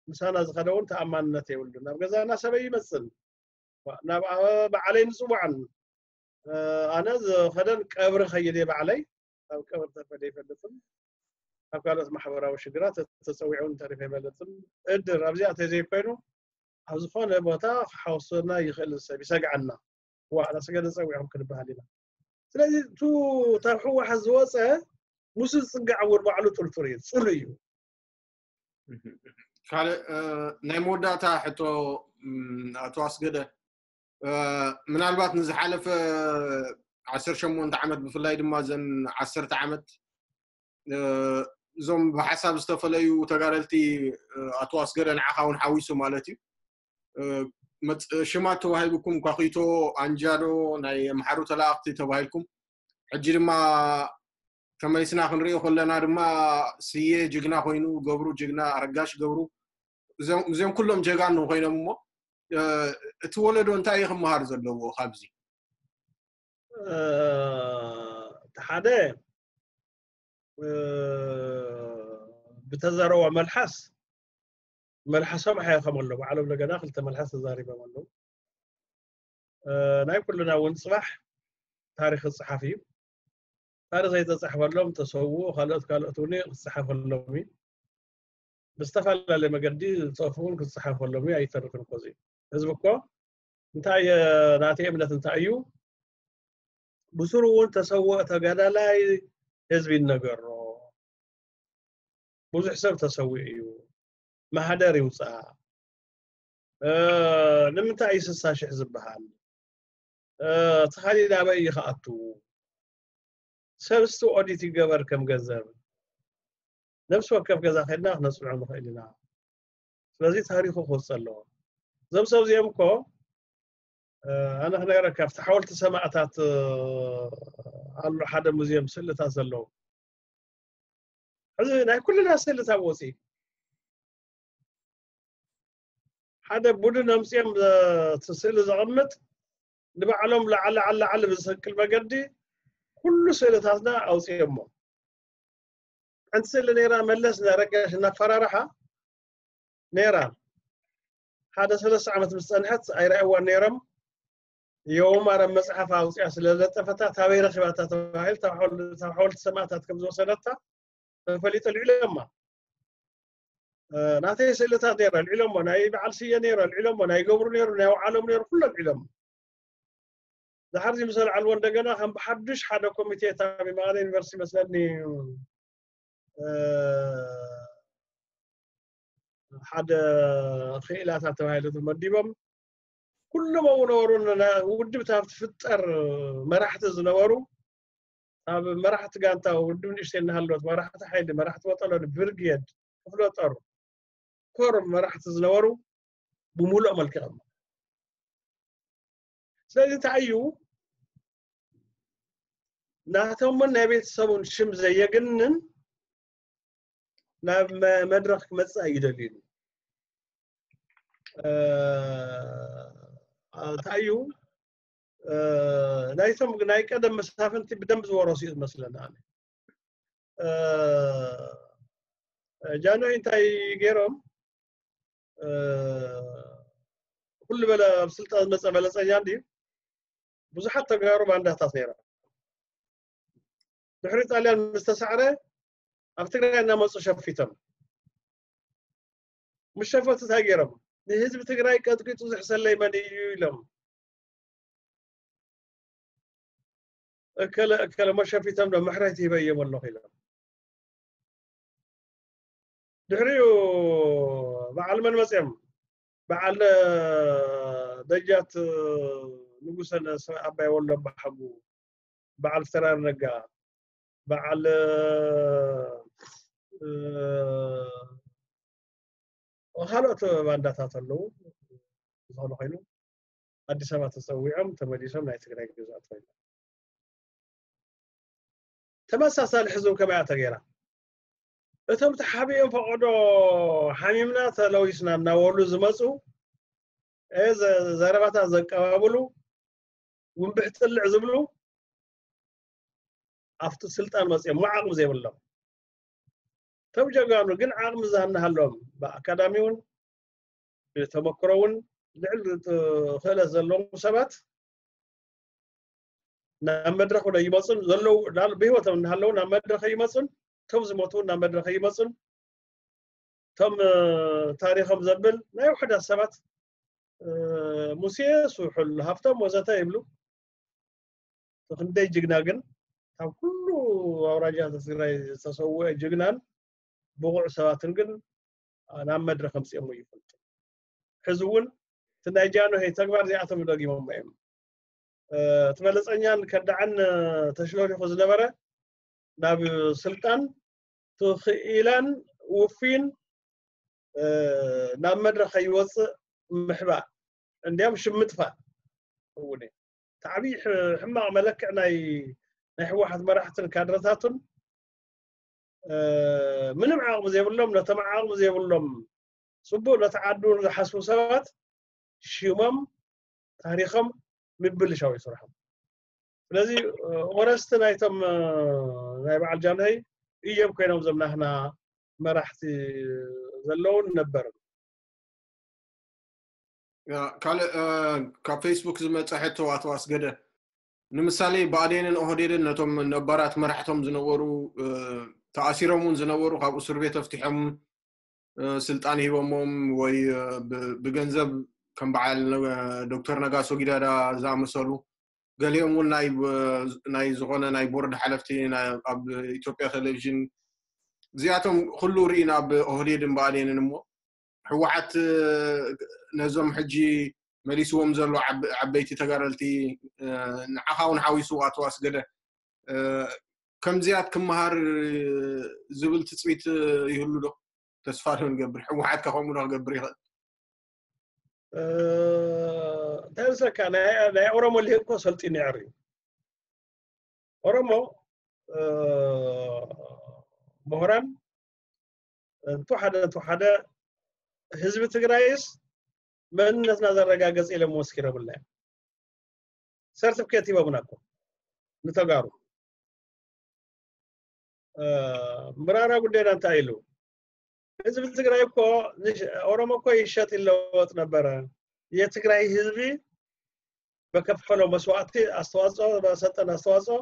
ምሳና ዝኸደ እውን ተኣማንነት የብሉን። ናብ ገዛና ሰበይ ይመፅን ናብ ባዕለይ ንፅዋዕን ኣነ ዝኸደን ቀብሪ ከይድ ባዕለይ ኣብ ቀብሪ ተፈደ ይፈልጥን ኣብ ካልኦት ማሕበራዊ ሽግራት ተፀዊዑ ተሪፈ ይፈልጥን እድር ኣብዚኣ ተዘይኮይኑ ኣብ ዝኾነ ቦታ ክሓወሰና ይኽእል ሰብ ይሰግዓና። ዋ ኣሰገደ ፀዊዖም ክንበሃል ኢና። ስለዚ እቲ ካብ ህወሓት ዝወፀ ምስ ዝፅጋዕ እውን ባዕሉ ጥርጡር እዩ፣ ፅሉእ እዩ። ካልእ ናይ መወዳእታ ሕቶ ኣቶ ኣስገደ ምናልባት ንዝሓለፈ ዓሰርተ ሸሞንተ ዓመት ብፍላይ ድማ ዘን ዓሰርተ ዓመት እዞም ብሓሳብ ዝተፈለዩ ተጋደልቲ ኣቶ ኣስገደ ንዓኻ እውን ሓዊሱ ማለት እዩ ሽማት ተዋሂብኩም ኳኺቶ ኣንጃዶ ናይ ኣምሓሩ ተላእኽቲ ተባሂልኩም ሕጂ ድማ ተመሊስና ክንሪኦ ከለና ድማ ስየ ጅግና ኮይኑ ገብሩ ጅግና ኣረጋሽ ገብሩ እዚኦም ኩሎም ጀጋኑ ኮይኖም እሞ እቲ ወለዶ እንታይ እዩ ክመሃር ዘለዎ ካብዚ ሓደ ብተዘረቦ መልሓስ መልሓሶም ሓየኸም ኣሎ ባዕሎም እንደገና ክልተ መልሓስ ተዛሪቦም ኣለዉ ናይ ኩልና እውን ፅባሕ ታሪክ ክፅሓፍ እዩ ታሪክ ዘይተፃሕፈሎም ተሰውኡ ካልኦት ካልኦት እውን ክፅሓፈሎም እዩ ብዝተፈላለየ መገዲ ዝፀፍኡን ክፅሓፈሎም እዩ ኣይተርፍን እኮ ህዝቢ እኮ እንታይ ናተይ እምነት እንታይ እዩ ብስሩ እውን ተሰውኦ ተጋዳላይ ህዝቢ ይነገሮ ብዙሕ ሰብ ተሰዊኡ እዩ ማህደር ይውፃእ ንምንታይ እዩ ስሳ ሽሕ ዝበሃል እቲ ካሊእ ናበይ እዩ ክኣቱ ሰብ እስቲ ኦዲት ይገበር ከም ገንዘብ ነብሲ ወከፍ ገዛ ከድና ክነፅንዖ ንኽእል ኢና ስለዚ ታሪኹ ክወፅእ ኣለዎ እዞም ሰብ እዚኦም እኮ ኣነ ክነገረካ ኣብቲ ሓወልቲ ሰማእታት ኣሎ ሓደ ሙዚየም ስእልታት ዘለዎ ሕዚ ናይ ኩልና ስእልታት ወፂ ሓደ ቡድን ኣምፅኦም እቲ ስእሊ ዘቐምጥ ንባዕሎም ላዓሊ ዓሊ ዓሊ ብዝሰቅል መገዲ ኩሉ ስእልታትና ኣውፅኦሞ ሓንቲ ስእሊ ነይራ መለስ ናረጋሽ እናፈራርሓ ነይራ ሓደ ሰለስተ ዓመት ምስ ፀንሐት ኣይረኣይዋን ነይሮም የውማረ መፅሓፍ ኣውፅያ ስለ ለጠፈታ ታበይ ረኪባታ ተባሂሉ ካብ ሓወልቲ ሰማእታት ከም ዝወሰደታ ተፈሊጡ ልዕሎማ ናተይ ስእልታት ነይረ ልዕሎሞ ናይ በዓል ስየ ነይረ ልዕሎሞ ናይ ገብሩ ነይሩ ናይ ውዓሎም ነይሩ ኩሎም ልዕሎሞ ድሓር እዚ ምስ ኣልዓልዎ እንደገና ከም ብሓዱሽ ሓደ ኮሚቴ እታ መቐለ ዩኒቨርሲቲ መስለኒ ሓደ ክኢላታት ተባሂሉ ተመዲቦም ኩሎም ኣብኡ ነበሩ ውድብ እታ ትፍጠር መራሕቲ ዝነበሩ ኣብ መራሕቲ ጋንታ ውድብ ንእሽተይ እናሃለወት መራሕቲ ሓይሊ መራሕቲ ወጠሎኒ ብርጌድ ክፍለ ጦር ኮር መራሕቲ ዝነበሩ ብምሉእ ኣመልኪቖም ስለዚ እንታይ እዩ ናቶምን ናይ ቤተሰቡን ሽም ዘየግንን ናብ መድረክ ክመፅእ ኣይደልዩን እንታይ እዩ ናይቶም ናይ ቀደም መሳፍንቲ ብደንብ ዝወረሱ እዩ ዝመስለኒ ኣነ ጃንሆይ እንታይ ገይሮም ኩሉ በለ ኣብ ስልጣን ዝመፀ በለፀኛ እንድዩ ብዙሓት ተጋሩ ባንዳታት ነይሮም ድሕሪ ጣልያን ምስ ተሳዕረ ኣብ ትግራይ እናመፁ ሸፊቶም ምስ ሸፈቱ እንታይ ገይሮም ንህዝቢ ትግራይ ቀጥቂጡ ዝሕሰለይ መን እዩ ኢሎም እከለ እከለ መሸፊቶም ዶ ምሕረት ይበዮም ኣለኹ ኢሎም ድሕሪኡ በዓል መን መፅኦም በዓል ደጃት ንጉሰ ኣባይ ወሎ ኣባሓጉ በዓል ፍተራር ነጋ በዓል ካልኦት ባንዳታት ኣለዉ ዝኾነ ኮይኑ ኣዲስ ኣበባ ተፀዊዖም ተመሊሶም ናይ ትግራይ ግዛት ኮይኖም ተመሳሳሊ ሕዚ እውን ከመያ ተገይራ። እቶም ተሓቢኦም ፈቐዶ ሓሚምና ተለዊስና እናበሉ ዝመፁ፣ እ፣ ዘ-፣ ዘረባታት ዘቀባብሉ፣ ውንብሕ ጥልዕ ዝብሉ፣ ኣብቲ ስልጣን መፅኦም እሞ ዓቕሚ ዘይብሎም። እቶም ጀጋኑ ግን ዓቕሚ ዝሃናሃሎም፣ ብኣካዳሚ እውን ብተመክሮ እውን ልዕል ክእለት ዘለዎም ሰባት ናብ መድረኽ እውን ኣይመፁን ዘለዉ፣ ዳል-፣ ብህይወቶም እናሃለዉ ናብ መድረኽ ኣይመፁን። እቶም ዝሞቱ እውን ናብ መድረኽ ኣይመፁን። እቶም፣ እ፣ ታሪኾም ዘብል ናይ ውሑዳት ሰባት፣ እ፣ ሙሴ፣ ስሑል፣ ሃብቶም ወዘተ ይብሉ። ክንደይ ጅግና ግን፣ ካብ ኩሉ ኣውራጃ ትግራይ ዝተሰውአ ጅግናን ብቑዕ ሰባትን ግን ናብ መድረኽ ኣምፅኦሞ ይፈልጡ። ሕዚ እውን እቲ ናይ ጃንሆይ ተግባር እዚኣቶም ደጊሞሞ እዮም። እ፣ እቲ በለፀኛን ከዳዕን፣ እ፣ ተሽሎሊኹ ዝነበረ ናብ ስልጣን ትኽኢላን ውፊን፣ እ፣ ናብ መድረኽ ከይወፅእ ምሕባእ፣ እንዲያም ሽም ምጥፋእ እውን እዩ። እቲ ዓብዪ ሕ-፣ ሕማቕ መለክዕ ናይ፣ ናይ ህወሓት መራሕትን ካድረታቱን፣ እ፣ ምንም ዓቕሚ ዘይብሎም፣ ነቶም ዓቕሚ ዘይብሎም፣ ፅቡቕ ነቲ ዓዱ ዝሓስቡ ሰባት ሽሞም፣ ታሪኾም ምብልሻው እዩ ስርሖም። ስለዚ፣ እ፣ ወረስቲ ናይቶም፣ እ፣ ናይ በዓል ጃንሆይ እዮም ኮይኖም እዞም ናህና መራሕቲ ዘለውን ነበርን። ያ፣ ካልእ፣ እ፣ ካብ ፌስቡክ ዝመጸ ሕቶ፣ ኣቶ ኣስገደ፣ ንምሳሌ ብኣዴንን ኦህዴድን ነቶም ነባራት መራሕቶም ዝነበሩ፣ እ፣ ተኣሲሮም እውን ዝነበሩ ካብ እስር ቤት ተፍቲሖም፣ እ፣ ስልጣን ሂቦሞም ወይ፣ እ፣ ብ-፣ ብገንዘብ ከም በዓል ነ-፣ ዶክተር ነጋሶ ጊዳዳ ዝኣመሰሉ፣ ገሊኦም እውን ናይ ብ-፣ ናይ ዝኾነ ናይ ቦርድ ሓለፍቲ ናይ፣ ኣብ ኢትዮጵያ ቴሌቪዥን፣ እዚኣቶም ኩሉ ርኢና ኣብ ኦህዴድን ብኣዴንን። እሞ ህወሓት፣ እ፣ ነዞም ሕጂ መሊስዎም ዘሎ ዓብ-፣ ዓበይቲ ተጋደልቲ፣ እ፣ ንዓኻ እውን ሓዊሱ ኣቶ ኣስገደ፣ እ፣ ከምዚኣት ክመሃር ዝብል ትፅቢት ይህሉ ዶ? ተስፋ ዶ ንገብር? ህወሓት ከ ከምኡ ዶ ክገብር ይኽእል? እ፣ እንታይ መስለካ፣ ናይ፣ ናይ ኦሮሞ ልሂቅ እኮ ሰልጢኑ የዕር እዩ። ኦሮሞ፣ እ፣ ምሁራን፣ እንተወሓደ፣ እንተወሓደ ህዝቢ ትግራይስ መንነትና ዘረጋገጽ ኢሎም መስኪሮምልና እዮም። ሰርቲፊኬት ሂቦምና እኮ ንተጋሩ። እ፣ ምራራ ጉዳይና እንታይ ኢሉ? ህዝቢ ትግራይ እኮ ንሽ-፣ ኦሮሞ እኮ ይሸጥ ይለወጥ ነበረ። የትግራይ ህዝቢ በከፈለው መስዋዕቲ ኣስተዋጽኦ፣ በሰጠን ኣስተዋጽኦ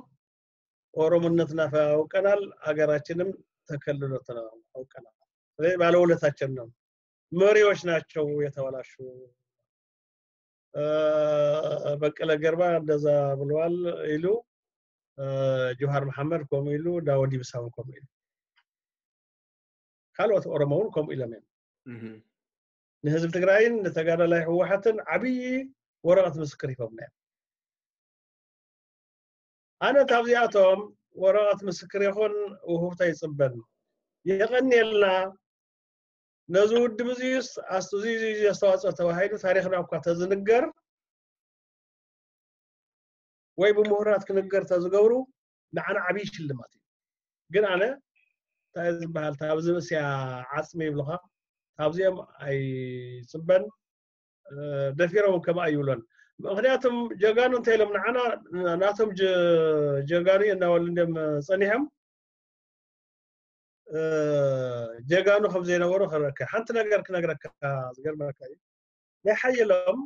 ኦሮሞነትና አውቀናል፣ አገራችንም ተከልሎትና አውቀናል። ስለዚህ ባለውለታችን ነው። መሪዎች ናቸው የተበላሹ። እ፣ በቀለ ገርባ እንደዛ ብለዋል ኢሉ፣ እ፣ ጆሃር መሐመድ ከምኡ ኢሉ፣ ዳውድ ኢብሳ እውን ከምኡ ኢሉ፣ ካልኦት ኦሮሞ እውን ከምኡ ኢሎም እዮም። እህ። ንህዝቢ ትግራይን ንተጋዳላይ ህወሓትን ዓብዪ ወረቐት ምስክር ሂቦምና እዮም። ኣነ ካብዚኣቶም ወረቐት ምስክር ይኹን ውህብቶ ኣይፅበን። የቐንየልና። ነዚ ውድብ እዚዩስ ኣስቱ እዚ፣ እዚ፣ እዚ ኣስተዋፅኦ ተባሂሉ ታሪኽና እኳ ተዝንገር ወይ ብምሁራት ክንገር ተዝገብሩ ንዓና ዓብዪ ሽልማት እዩ። ግን ኣነ እንታይ ዝበሃል፣ ታብዚ ንእስያ ዓፅሚ ይብልኻ፣ ካብዚኦም ኣይፅበን፣ እ፣ ደፊሮም ከም ኣይብሎን። ምኽንያቱም ጀጋኑ እንታይ ኢሎም ንዓና፣ ናቶም ጀ-፣ ጀጋኑ እናበሉ እንዲም ፀኒሖም፣ እ፣ ጀጋኑ ከም ዘይነበሩ ክረከ። ሓንቲ ነገር ክነግረካ ዝገርመካ እዩ። ናይ ሓየሎም፣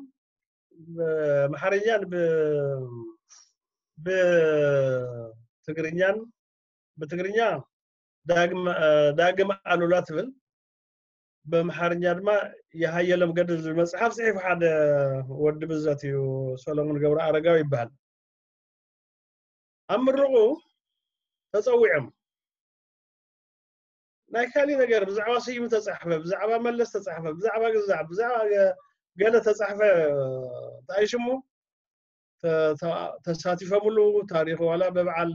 እ፣ ኣምሓርኛን ብ-፣ ብትግርኛን፣ ብትግርኛ ዳግም፣ እ፣ ዳግም ኣሉላ ትብል፣ በምሓርኛ ድማ የሃየሎም ገድል ዝብል መጽሓፍ ጽሒፉ ሓደ ወዲ ብዘት እዩ፣ ሰሎሞን ገብረ ኣረጋዊ ይበሃል። ኣብ ምርቑ ተጸዊዖም። ናይ ካሊእ ነገር ብዛዕባ ስዩም ተጻሕፈ፣ ብዛዕባ መለስ ተጻሕፈ፣ ብዛዕባ ግዛዕ፣ ብዛዕባ ገ-፣ ገለ ተጻሕፈ፣ እንታይ ሽሙ? ተ-፣ ተ-፣ ተሳቲፎምሉ ታሪኽ ዋላ ብበዓል፣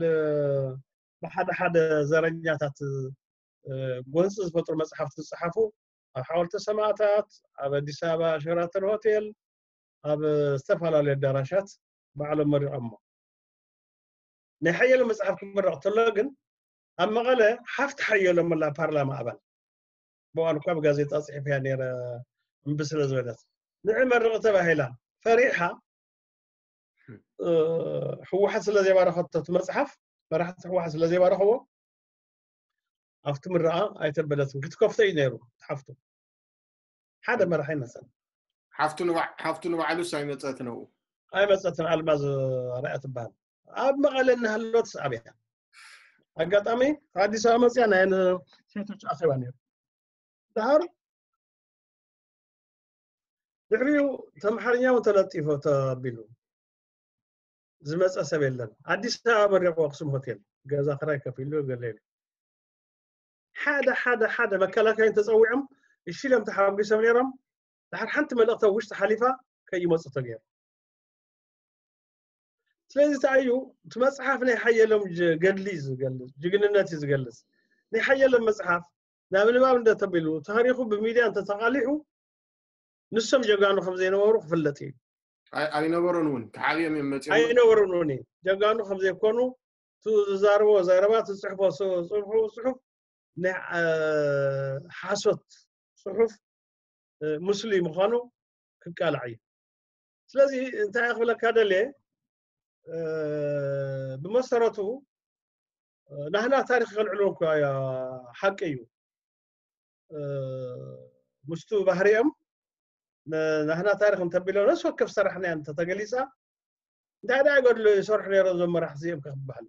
ብሓደ ሓደ ዘረኛታት፣ እ፣ ጎንፂ ዝፈጥሩ መጽሓፍቲ ዝጸሓፉ ኣብ ሓወልቲ ሰማእታት፣ ኣብ ኣዲስ ኣበባ ሸራተን ሆቴል፣ ኣብ ዝተፈላለዩ ኣዳራሻት ባዕሎም መሪቖሞ። ናይ ሓየሎም መፅሓፍ ክምረቕ ተሎ ግን ኣብ መቐለ ሓፍቲ ሓየሎም ኣላ ፓርላማ ኣባል ብዋን እኳ ብጋዜጣ ፅሒፍያ ነረ እምቢ ስለ ዝበለት ንዕ መርቕ ተባሂላ ፈሪሓ ህወሓት ስለ ዘይባረኸቶ እቲ መፅሓፍ መራሕቲ ህወሓት ስለ ዘይባረኸዎ ኣብቲ ምረቓ ኣይተበለትን ክትከፍቶ እዩ ነይሩ ሓፍቱ ሓደ መራሒ መፀን ሓፍቱ ንባዕሉስ ኣይመፀትን ኣብኡ ኣይመፀትን ኣልማዝ ርያ ትበሃል ኣብ መቐለ እናሃለወት ኣብያ ኣጋጣሚ ኣዲስ ኣበባ መፅያ ናይ ሴቶች ኣኼባ ነይሩ ድሃር ድሕሪኡ ተምሓርኛ እውን ተለጢፎ ተቢሉ ዝመፀ ሰብ የለን ኣዲስ ኣበባ መሪቑ ኣክሱም ሆቴል ገዛ ክራይ ከፊሉ ገለ ኢሉ ሓደ ሓደ ሓደ መከላከያን ተፀዊዖም እሺ ኢሎም ተሓጒሶም ነይሮም ድሓር ሓንቲ መልእክቲ ኣብ ውሽጢ ሓሊፋ ከይመፁ ተገይሩ ስለዚ እንታይ እዩ እቲ መፅሓፍ ናይ ሓየሎም ገድሊ እዩ ዝገልፅ ጅግንነት እዩ ዝገልፅ ናይ ሓየሎም መፅሓፍ ናብ ንባብ እንተተቢሉ ታሪኹ ብሚድያ እንተተቃሊሑ ንሶም ጀጋኑ ከም ዘይነበሩ ክፍለጥ እዩ ኣይነበሩን እውን ተሓብዮም እዮም መፅኦም ኣይነበሩን እውን ጀጋኑ ከም ዘይኮኑ ዝዛርቦ ዘረባ ዝፅሕፎ ፅሑፍ ናይ ሓሶት ፅሑፍ ምስሊ ምዃኑ ክቃላዕ እዩ ስለዚ እንታይ ክብለካ ደልየ ብመሰረቱ ናህና ታሪክ ከልዕልዎ እኮ ሓቂ እዩ ምስቱ ባህሪኦም ናህና ታሪክ እንተቢሎም ነስ ወከፍ ሰራሕና እንተተገሊፃ እንታይ ደኣ ይገድሉ ይሰርሑ ነይሮም ዞም መራሕቲ እዚኦም ክበሃል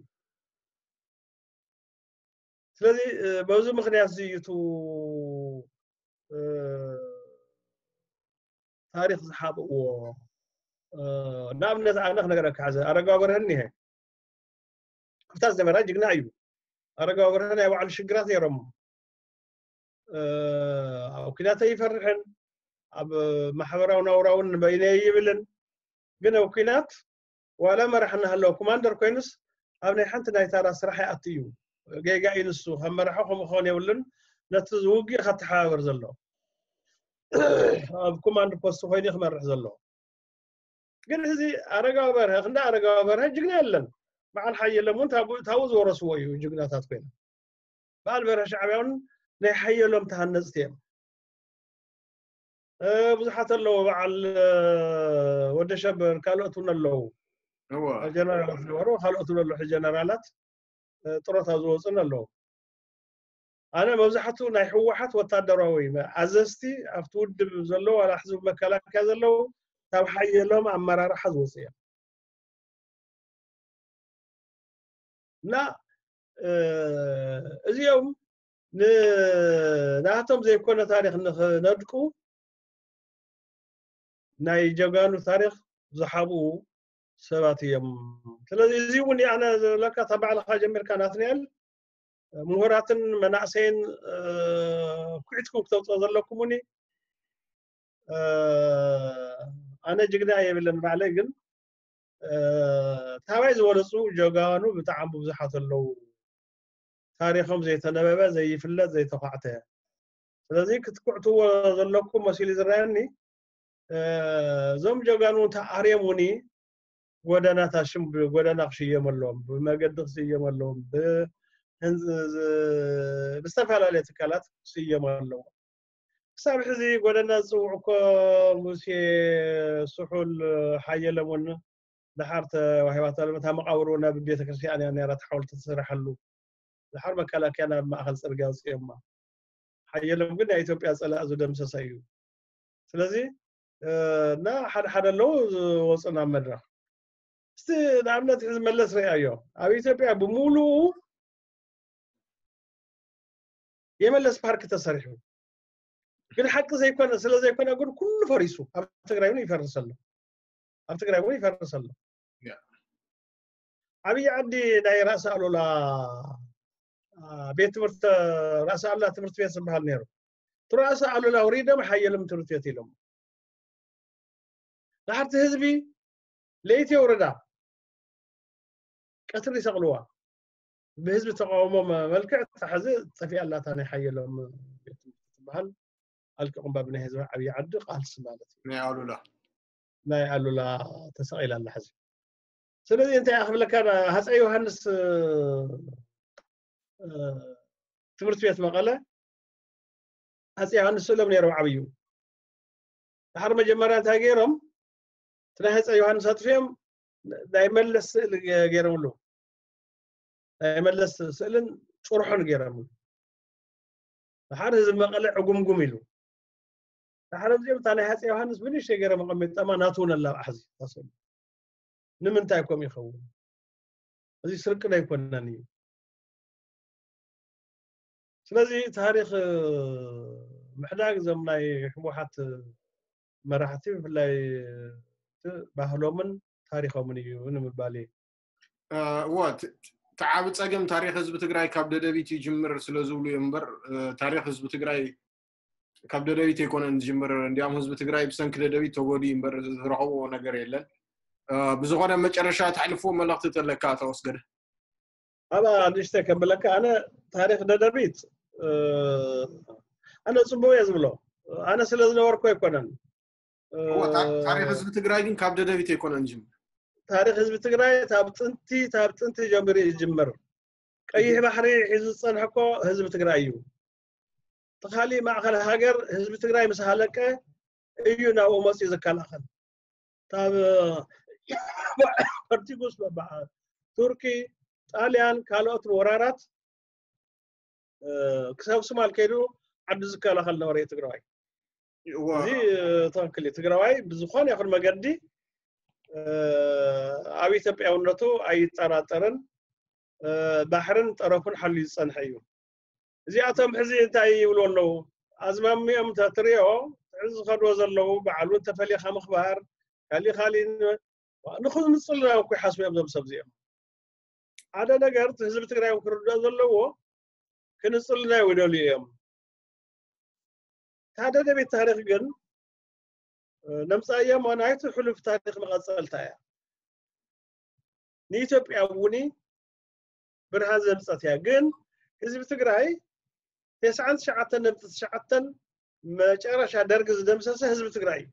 ስለዚ በዚ ምክንያት እዚ እዩ ታሪክ ዝሓብእዎ ንኣብነት ኣነ ክነገረካ ሕዘ ኣረጋዊ በርሀ እኒሀ ኣብታ ዝነበራ ጅግና እዩ ኣረጋዊ በርሀ ናይ ባዕሉ ሽግራት ነይሮም ኣብ ኩናት ኣይፈርሕን ኣብ ማሕበራዊ ናውራ እውን በይነ ይብልን ግን ኣብ ኩናት ዋላ መራሕ እናሃለወ ኮማንደር ኮይኑስ ኣብ ናይ ሓንቲ ናይ ታራ ስራሕ ይኣቱ እዩ ጌጋ እዩ ንሱ ከም መራሒ ከምኡ ክኸውን የብሉን ነቲ ውግእ ከተሓባበር ዘሎ ኣብ ኮማንድ ፖስት ኮይኑ ክመርሕ ዘሎ ግን እዚ ኣረጋዊ በርሀ ክንዳ ኣረጋዊ በርሀ ጅግና የለን በዓል ሓየሎም እውን ታቡ ዝወረስዎ እዩ ጅግናታት ኮይና በዓል በርሀ ሻዕብያ እውን ናይ ሓየሎም ተሃነፅቲ እዮም ብዙሓት ኣለዉ በዓል ወደ ሸበር ካልኦት እውን ኣለዉ ጀነራላት ዝነበሩ ካልኦት እውን ኣለዉ ጀነራላት ጥሮታ ዝወፁን ኣለዉ ኣነ መብዛሕትኡ ናይ ህወሓት ወታደራዊ ኣዘዝቲ ኣብቲ ውድብ ዘለዉ ዋላ ሕዚ መከላከያ ዘለዉ ካብ ሓየሎም ኣመራርሓ ዝወፁ እዮም እና እዚኦም ንናቶም ዘይኮነ ታሪክ ንክነድቁ ናይ ጀጋኑ ታሪክ ዝሓብኡ ሰባት እዮም ስለዚ እዚ እውን ኣነ ዝብለካ ካብ ባዕልካ ጀሚርካ ናትንኤል ምሁራትን መናእሰይን ኩዒትኩም ክተውፅኦ ዘለኩም እውን ኣነ ጅግና የብለን ባዕለይ ግን ታባይ ዝበለፁ ጀጋኑ ብጣዕሚ ብዙሓት ኣለዉ ታሪኮም ዘይተነበበ ዘይፍለጥ ዘይተኳዕተ ስለዚ ክትኩዕትዎ ዘለኩም መሲሉ ዝረኣየኒ እዞም ጀጋኑ ተኣርዮም እውን ጎደናታት ሽም ጎደና ክሽየመሎም ብመገዲ ክስየመሎም ብዝተፈላለየ ትካላት ክስየሙ ኣለዎ ክሳብ ሕዚ ጎደና ዝፅውዑ እኮ ሙሴ ስሑል ሓየሎም እውን ደሓር ተዋሂባታ ሎም እታ መቃብሩ ናብ ቤተክርስትያን እያ ነራ ሓወልቲ ትስርሐሉ ደሓር መከላከያ ናብ ማእከል ፅርግያ ኣውፅኦማ ሓየሎም ግን ናይ ኢትዮጵያ ፀላእ ዝደምሰሰ እዩ ስለዚ እና ሓደ ሓደ ኣለዉ ዝወፁ ናብ መድረክ እስቲ ንኣብነት ሕዚ መለስ ርኣዮ ኣብ ኢትዮጵያ ብምሉኡ የመለስ ፓርክ ተሰሪሑ ግን ሓቂ ዘይኮነ ስለ ዘይኮነ ግን ኩሉ ፈሪሱ ኣብ ትግራይ እውን ይፈርስ ኣሎ ኣብ ትግራይ እውን ይፈርስ ኣሎ ዓብዪ ዓዲ ናይ ራእሲ ኣሉላ ቤት ትምህርቲ ራእሲ ኣሉላ ትምህርቲ ቤት ዝበሃል ነይሩ እቲ ራእሲ ኣሉላ ውሪዶም ሓየሎም ትምህርቲ ቤት ኢሎም ድሓርቲ ህዝቢ ለይቲ የውርዳ ቀትሪ ይሰቕልዋ ብህዝቢ ተቃውሞ መልክዕ ታሕዚ ጠፊኣ ኣላታ ናይ ሓየሎም ትበሃል ኣልቂቑምባ ብናይ ህዝቢ ዓብዪ ዓዲ ቃልሲ ማለት እዩ ናይ ኣሉላ ናይ ኣሉላ ተሰቒላ ኣላ ሕዚ ስለዚ እንታይ ክብለካ፣ ሃፀይ ዮሃንስ ትምህርቲ ቤት መቐለ፣ ሃፀይ ዮሃንስ ስእሎም ነይሮም ዓብዩ። ድሓር መጀመርያ እንታይ ገይሮም? እቲ ናይ ሃፀይ ዮሃንስ ኣጥፊኦም ናይ መለስ ስእሊ ገይሮምሉ። ናይ መለስ ስእልን ጭርሖን ገይሮምሉ። ድሓር ህዝቢ መቐለ ዕጉምጉም ኢሉ። ድሓር እዚኦም እታ ናይ ሃፀይ ዮሃንስ ብንእሽተይ ገይሮም ኣቐሚጦማ፣ ናቱ እውን ኣላብዓ ሕዚ ታስእሉ። ንምንታይ ከምኡ ይኸውን? እዚ ስርቂ ዶ ኣይኮነን እዩ? ስለዚ ታሪኽ ምሕዳግ እዞም ናይ ህወሓት መራሕቲ ብፍላይ ባህሎምን ታሪኾምን እዩ ንምባል እዩ። እዎ፣ እቲ ዓቢ ጸገም ታሪኽ ህዝቢ ትግራይ ካብ ደደቢት ይጅምር ስለ ዝብሉ እዮም እምበር፣ ታሪኽ ህዝቢ ትግራይ ካብ ደደቢት ኣይኮነን ዝጅምር። እንዲያም ህዝቢ ትግራይ ብሰንኪ ደደቢት ተጎዲኡ እምበር ዝረኸብዎ ነገር የለን። ብዝኾነ መጨረሻ ተሕልፍዎ መልእኽቲ ተለካ ተወስገደ። ኣብኣ ንእሽተይ ከብለካ፣ ኣነ ታሪኽ ደደቢት ኣነ ጽቡቕ እየ ዝብሎ። ኣነ ስለ ዝነበርኩ ኣይኮነን። ታሪኽ ህዝቢ ትግራይ ግን ካብ ደደቢት ኣይኮነን ዝጅምር። ታሪኽ ህዝቢ ትግራይ ካብ ጥንቲ ካብ ጥንቲ ጀሚሩ ይጅምር። ቀይሕ ባሕሪ ሒዙ ዝፀንሐ እኮ ህዝቢ ትግራይ እዩ። እቲ ካሊእ ማእኸል ሃገር ህዝቢ ትግራይ ምስ ሃለቀ እዩ ናብኡ መፅኡ ዝከላኸል። ካብ ፖርቱጉስ፣ ቱርኪ፣ ጣልያን፣ ካልኦት ወራራት ክሳብ ሱማል ከይዱ ዓዱ ዝከላኸል ነበረ ትግራዋይ። እዚ ትኽክል እዩ። ትግራዋይ ብዝኾነ ይኹን መገዲ ኣብ ኢትዮጵያውነቱ ኣይጠራጠርን። ባሕርን ጠረፉን ሓልዩ ዝፀንሐ እዩ። እዚኣቶም ሕዚ እንታይ ይብሉ ኣለዉ? ኣዝማሚኦም እንተትሪኦ፣ ሕዚ ዝኸድዎ ዘለዉ በዓል እውን ተፈልዩ ካብ ምኽባር፣ ካሊእ ካሊእ ን-፣ ንኽንፅልና እኮ ይሓስቡ እዮም እዞም ሰብ እዚኦም። ሓደ ነገር እቲ ህዝቢ ትግራይ እውን ክርድኦ ዘለዎ፣ ክንፅልና ይደልዩ እዮም። እታ ደደቢት ታሪኽ ግን ነምፃያ እሞ ናይቲ ሕሉፍ ታሪኽ መቐፀልታ እያ። ንኢትዮጵያ እውን ብርሃን ዘምፀት እያ። ግን ህዝቢ ትግራይ ተስዓን ትሽዓተን ነጥቢ ትሽዓተን መጨረሻ ደርጊ ዝደምሰሰ ህዝቢ ትግራይ እዩ።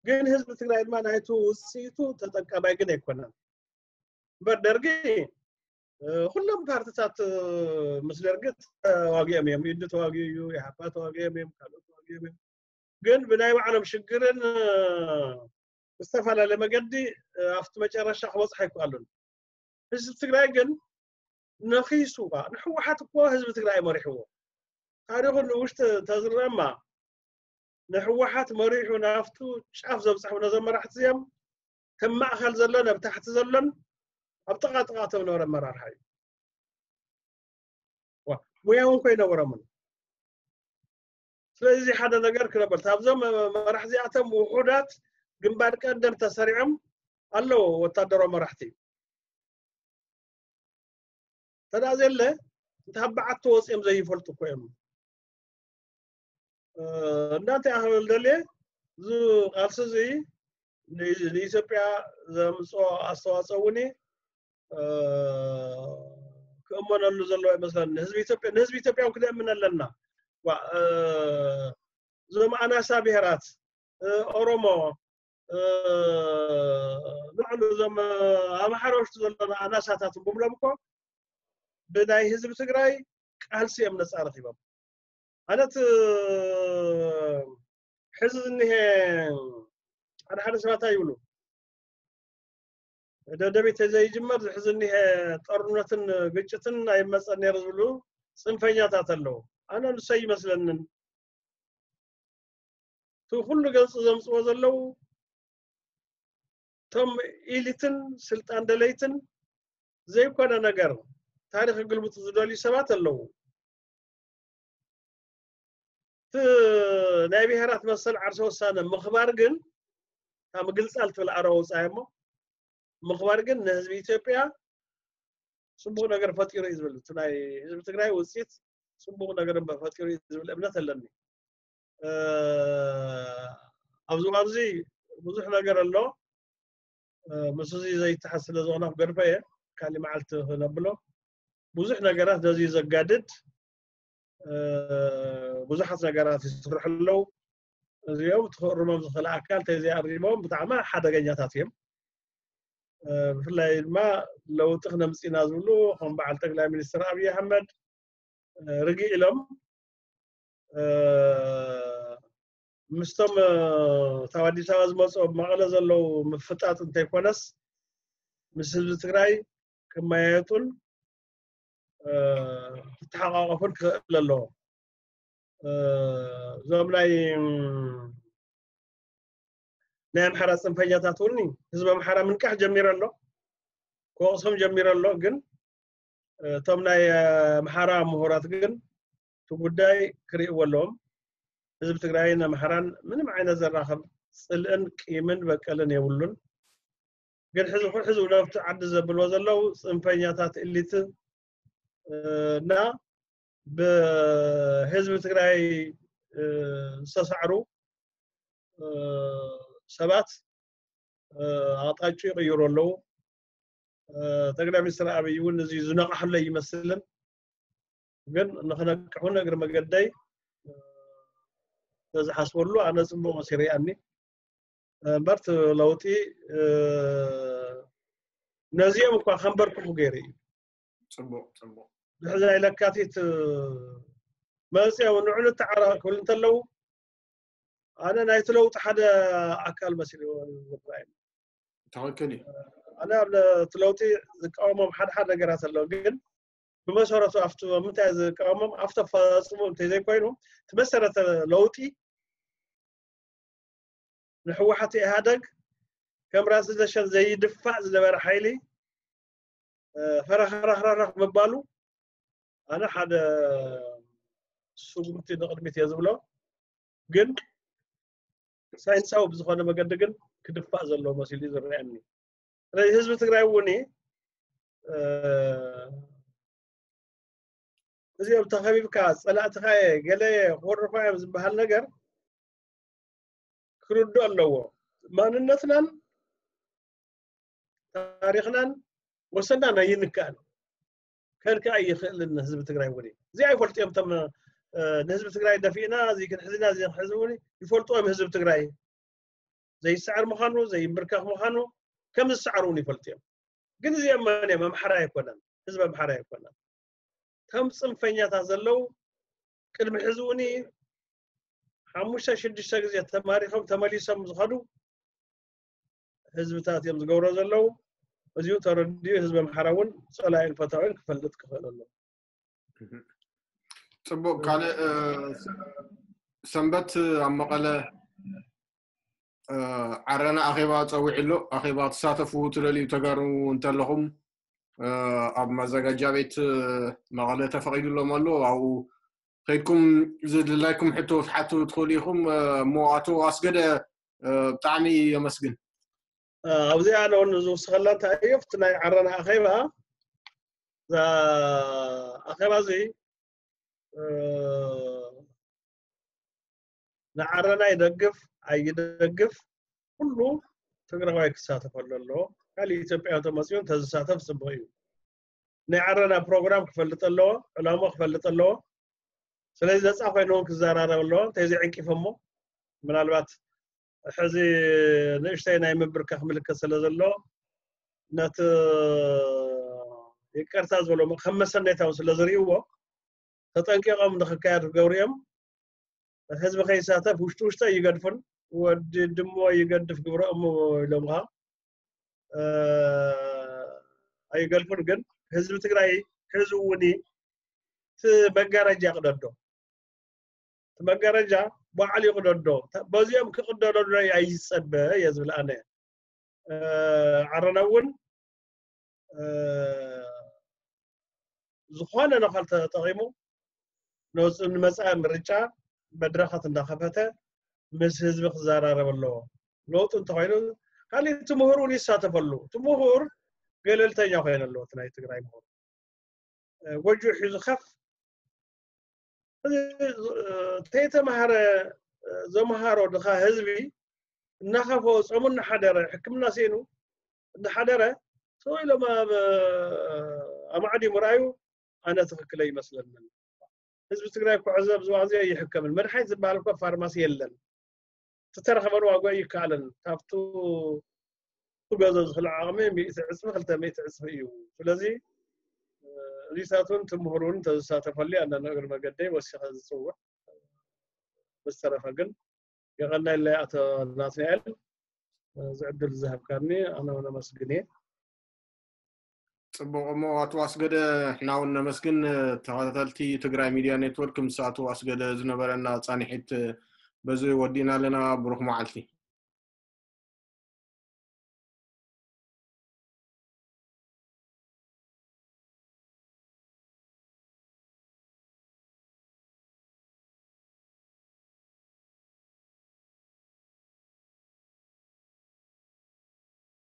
ግን ህዝቢ ትግራይ ድማ ናይቲ ውፅኢቱ ተጠቃማይ ግን ኣይኮነን። እምበር ደርጊ ኩሎም ፓርትታት ምስ ደርጊ ተዋጊኦም እዮም። ኢዱ ተዋጊኡ እዩ፣ ኢሃፓ ተዋጊኦም እዮም፣ ካልኦት ተዋጊኦም እዮም። ግን ብናይ ባዕሎም ሽግርን ብዝተፈላለየ መገዲ ኣብቲ መጨረሻ ክበፅሑ ኣይከኣሉን። ህዝቢ ትግራይ ግን ነኺሱ፣ ንሕወሓት እኮ ህዝቢ ትግራይ መሪሕዎ። ታሪኹ ንውሽጢ ተዝረማ ንሕወሓት መሪሑ ናብቱ ጫፍ ዘብፅሑ ነዞም መራሕቲ እዚኦም ከም ማእኸል ዘሎን ኣብ ታሕቲ ዘሎን ኣብ ጥቓ ጥቓ ተብሎ ኣመራርሓ እዩ። ሙያ እውን ኮይነበሮምን። ስለዚ ሓደ ነገር ክነበር፣ ካብዞም መራሕቲ እዚኣቶም ውሑዳት ግንባር ቀደም ተሰሪዖም ኣለዉ ወታደራዊ መራሕቲ። ተዳ ዘለ እንተ በዓቲ ወፂኦም ዘይፈልጡ እኮ እዮም። እናንተ ኣኽብል ደልየ፣ እዚ ቃልሲ እዚ ንኢትዮጵያ ዘምፅኦ ኣስተዋፅኦ እውን ክእመነሉ ዘለዎ ይመስለኒ። ንህዝቢ ኢትዮጵያ፣ ንህዝቢ ኢትዮጵያ እውን ክነእምን ኣለና። እዞም ኣናሳ ብሄራት፣ ኦሮሞ፣ ንባዕሉ እዞም ኣምሓራ ውሽጢ ዘለና ኣናሳታት ብምሎም እኮ ብናይ ህዝቢ ትግራይ ቃልሲ እዮም ነፃ ረኪቦም። ኣነት ሕዚ ዝኒሀ ሓደ ሓደ ሰባት ይብሉ፣ ደደቢት ዘይጅመር ዝሕዚ እኒሀ ጦርነትን ግጭትን ኣይመፀን ነይሩ ዝብሉ ፅንፈኛታት ኣለዉ። ኣነ ንሰይ ይመስለንን እቲ ኩሉ ገንፂ ዘምፅዎ ዘለዉ እቶም ኢሊትን ስልጣን ደለይትን ዘይኮነ ነገር ታሪክ ግልብጡ ዝደልዩ ሰባት ኣለዉ። እቲ ናይ ብሄራት መሰል ዓርሰ ውሳነ ምኽባር ግን እታ ምግልፃል ትብል ኣረ ወፃኢ እሞ ምኽባር ግን ንህዝቢ ኢትዮጵያ ፅቡቅ ነገር ፈጢሩ እዩ ዝብል፣ እቲ ናይ ህዝቢ ትግራይ ውፅኢት ፅቡቅ ነገር እምበር ፈጢሩ እዩ ዝብል እምነት ኣለኒ። ኣብዚ ኣብዚ ብዙሕ ነገር ኣሎ። ምስ እዚ ዘይተሓዝ ስለ ዝኾነ ክገድፎ እየ። ካሊእ መዓልቲ ክነብሎ። ብዙሕ ነገራት ነዚ ዘጋድድ ብዙሓት ነገራት ይስርሑ ኣለዉ። እዚኦም እቲ ክእርሞም ዝኽእል ኣካል ተዘይኣሪሞም ብጣዕሚ ሓደገኛታት እዮም። ብፍላይ ድማ ለውጢ ክነምፅእ ኢና ዝብሉ ከም በዓል ጠቅላይ ሚኒስትር ኣብይ ኣሕመድ ርግእ ኢሎም ምስቶም ካብ ኣዲስ ኣበባ ዝመፁ ኣብ መቐለ ዘለዉ ምፍጣጥ እንተይኮነስ ምስ ህዝቢ ትግራይ ክመያየጡን ክተሓቃቀፉን ክኽእል ኣለዎ። እዞም ናይ ናይ ኣምሓራ ፅንፈኛታት እውን ህዝቢ ኣምሓራ ምንቃሕ ጀሚሩ ኣሎ፣ ክወቅሶም ጀሚሩ ኣሎ። ግን እቶም ናይ ኣምሓራ ምሁራት ግን እቲ ጉዳይ ክርእይዎ ኣለዎም። ህዝቢ ትግራይን ኣምሓራን ምንም ዓይነት ዘራኸብ ፅልእን ቂምን በቀልን የብሉን። ግን ሕዚ ኩሉ ሕዚ ናብቲ ዓዲ ዘብልዎ ዘለዉ ፅንፈኛታት እሊት እና ብህዝቢ ትግራይ ዝተሳዕሩ ሰባት ኣቕጣጭ ይቕይሩ ኣለዉ። ጠቅላይ ሚኒስትር ኣብይ እውን እዚ ዝነቕሐሉ ኣይመስልን። ግን ንክነቅሑን እግሪ መገደይ ተዝሓስበሉ ኣነ ፅቡቅ መሲ ርኣኒ። እምበር እቲ ለውጢ ነዚኦም እኳ ከንበርክኹ ገይሩ እዩ። ፅቡቅ ፅቡቅ። ድሕዚ ናይ ለካቲት መፅኦም ንዑ ንተዓራረቅ ክብል እንተለዉ ኣነ ናይቲ ለውጢ ሓደ ኣካል መሲሉ ዝረኣዩ። ትክክል እዩ። ኣነ ኣብ እቲ ለውጢ ዝቃወሞም ሓደ ሓደ ነገራት ኣለዉ፣ ግን ብመሰረቱ ኣብቲ ምንታይ ዝቃወሞም ኣብቲ ኣፈፃፅሙ እንተዘይኮይኑ እቲ መሰረተ ለውጢ ንህወሓት ኢህኣደግ ከም ራስ ደሸን ዘይድፋእ ዝነበረ ሓይሊ ፈረኽረኽረኽ ምባሉ ኣነ ሓደ ስጉምቲ ንቕድሚት እየ ዝብሎ። ግን ሳይንሳዊ ብዝኾነ መገዲ ግን ክድፋእ ዘለዎ መሲሉ እዩ ዝረኣየኒ። ስለዚ ህዝቢ ትግራይ እውን እዚኦም ተኸቢብካ ፀላእትኻ እየ ገለ እየ ክወርፋ እዮም ዝበሃል ነገር ክርድኦ ኣለዎ። ማንነትናን ታሪኽናን ወሰንና ኣይንካእን፣ ከልክእ ኣይኽእልን። ህዝቢ ትግራይ እውን እዚ ኣይፈልጡ እዮም። እቶም ንህዝቢ ትግራይ ደፊእና እዚ ክንሕዝና እዚ ክንሕዝ እውን ይፈልጡ እዮም። ህዝቢ ትግራይ ዘይሰዓር ምዃኑ ዘይምብርከኽ ምዃኑ ከም ዝሰዓሩ እውን ይፈልጡ እዮም። ግን እዚኦም መን እዮም? ኣምሓራ ኣይኮነን፣ ህዝቢ ኣምሓራ ኣይኮነን። ከም ፅንፈኛታት ዘለዉ ቅድሚ ሕዚ እውን ሓሙሽተ ሽዱሽተ ግዜ ተማሪኾም ተመሊሶም ዝኸዱ ህዝብታት እዮም ዝገብሮ ዘለዉ። እዚኡ ተረዲኡ ህዝቢ ኣምሓራ እውን ፀላኢን ፈታዊን ክፈልጥ ክኽእል ኣለዎ። ፅቡቅ። ካልእ ሰንበት ኣብ መቐለ ዓረና ኣኼባ ፀዊዑ ኣሎ። ኣኼባ ትሳተፉ ትደልዩ ተጋሩ እንተለኹም ኣብ ማዘጋጃ ቤት መቐለ ተፈቒዱሎም ኣሎ። ኣብኡ ከይድኩም ዝድላይኩም ሕቶ ክትሓቱ ትኽእሉ ኢኹም። እሞ ኣቶ ኣስገደ ብጣዕሚ የመስግን። ኣብዚኣ ኣነ እውን ዝውስኸላ እንታይ እዩ ኣብቲ ናይ ዓረና ኣኼባ እዛ ኣኼባ እዚ ንዓረና ይደግፍ ኣይደግፍ ኩሉ ትግራዋይ ክሳተፈሉ ኣለዎ። ካልእ ኢትዮጵያ ተመፅኡ እንተዝሳተፍ ፅቡቅ እዩ። ናይ ዓረና ፕሮግራም ክፈልጥ ኣለዎ፣ ዕላማ ክፈልጥ ኣለዎ። ስለዚ ነፃ ኮይኑ እውን ክዘራረብ ኣለዎ። እንተዘይዕንቂፎሞ ምናልባት ሕዚ ንእሽተይ ናይ ምብርከኽ ምልክት ስለ ዘሎ ነቲ ይቅርታ ዝበሎ ከም መሰነይታ እውን ስለ ዝርእይዎ ተጠንቂቆም ንክካየድ ክገብሩ እዮም። ህዝቢ ከይሳተፍ ውሽጢ ውሽጢ ኣይገድፉን። ወዲ ድሞ ይገድፍ ግብረ እሙ ኢሎም ከዓ ኣይገድፉን። ግን ህዝቢ ትግራይ ሕዚ እውን እቲ መጋረጃ ይቅደዶ፣ እቲ መጋረጃ ባዕሉ ይቅደዶ። በዚኦም ክቅደደሉ ኣይፀበ እየ ዝብል ኣነ። ዓረና እውን ዝኾነ ነኻል ተጠቂሙ ንመፃኢ ምርጫ መድረኻት እንዳኸፈተ ምስ ህዝቢ ክዘራረብ ኣለዎ። ለውጢ እንተኮይኑ ካልእ እቲ ምሁር እውን ይሳተፈሉ። እቲ ምሁር ገለልተኛ ኮይኑ ኣለዎ። እቲ ናይ ትግራይ ምሁር ጎጆ ሒዙ ከፍ ተይተማሃረ ዘምሃሮ ድኻ ህዝቢ እናኸፈ ጾሙ እናሓደረ ሕክምና ስኢኑ እናሓደረ ሰው ኢሎም ኣብ ኣማዕዲሙ ርኣዩ ኣነ ትኽክለ ይመስለንን። ህዝቢ ትግራይ እኮ ሕዚ ኣብዚ እዋን እዚ ኣይሕከምን። መድሓኒት ዝበሃል እኮ ፋርማሲ የለን። ዝተረኸበን ዋጋ ይከኣለን። ካብቱ ክገዞ ዝኽእል ዓቕሚ ሚእቲ ዕፅፊ ክልተ ሚእቲ ዕፅፊ እዩ። ስለዚ እ፣ እዚታት እውን ትምህር እውን ተዝሳተፈሉ ኣነ ንእግሪ መገደይ ወሲኸ ዝፅውዕ። ብዝተረፈ ግን የቐናይለይ ኣቶ ናትናኤል፣ እ፣ ዝዕድል ዝሃብካኒ ኣነ እውን ኣመስግን እየ። ፅቡቕ። እሞ ኣቶ ኣስገደ፣ ሕና እውን ነመስግን። ተኸታተልቲ ትግራይ ሚድያ ኔትወርክ፣ ምስ ኣቶ ኣስገደ ዝነበረና ፃንሒት በዚ ወዲእና ኣለና። ብሩኽ መዓልቲ።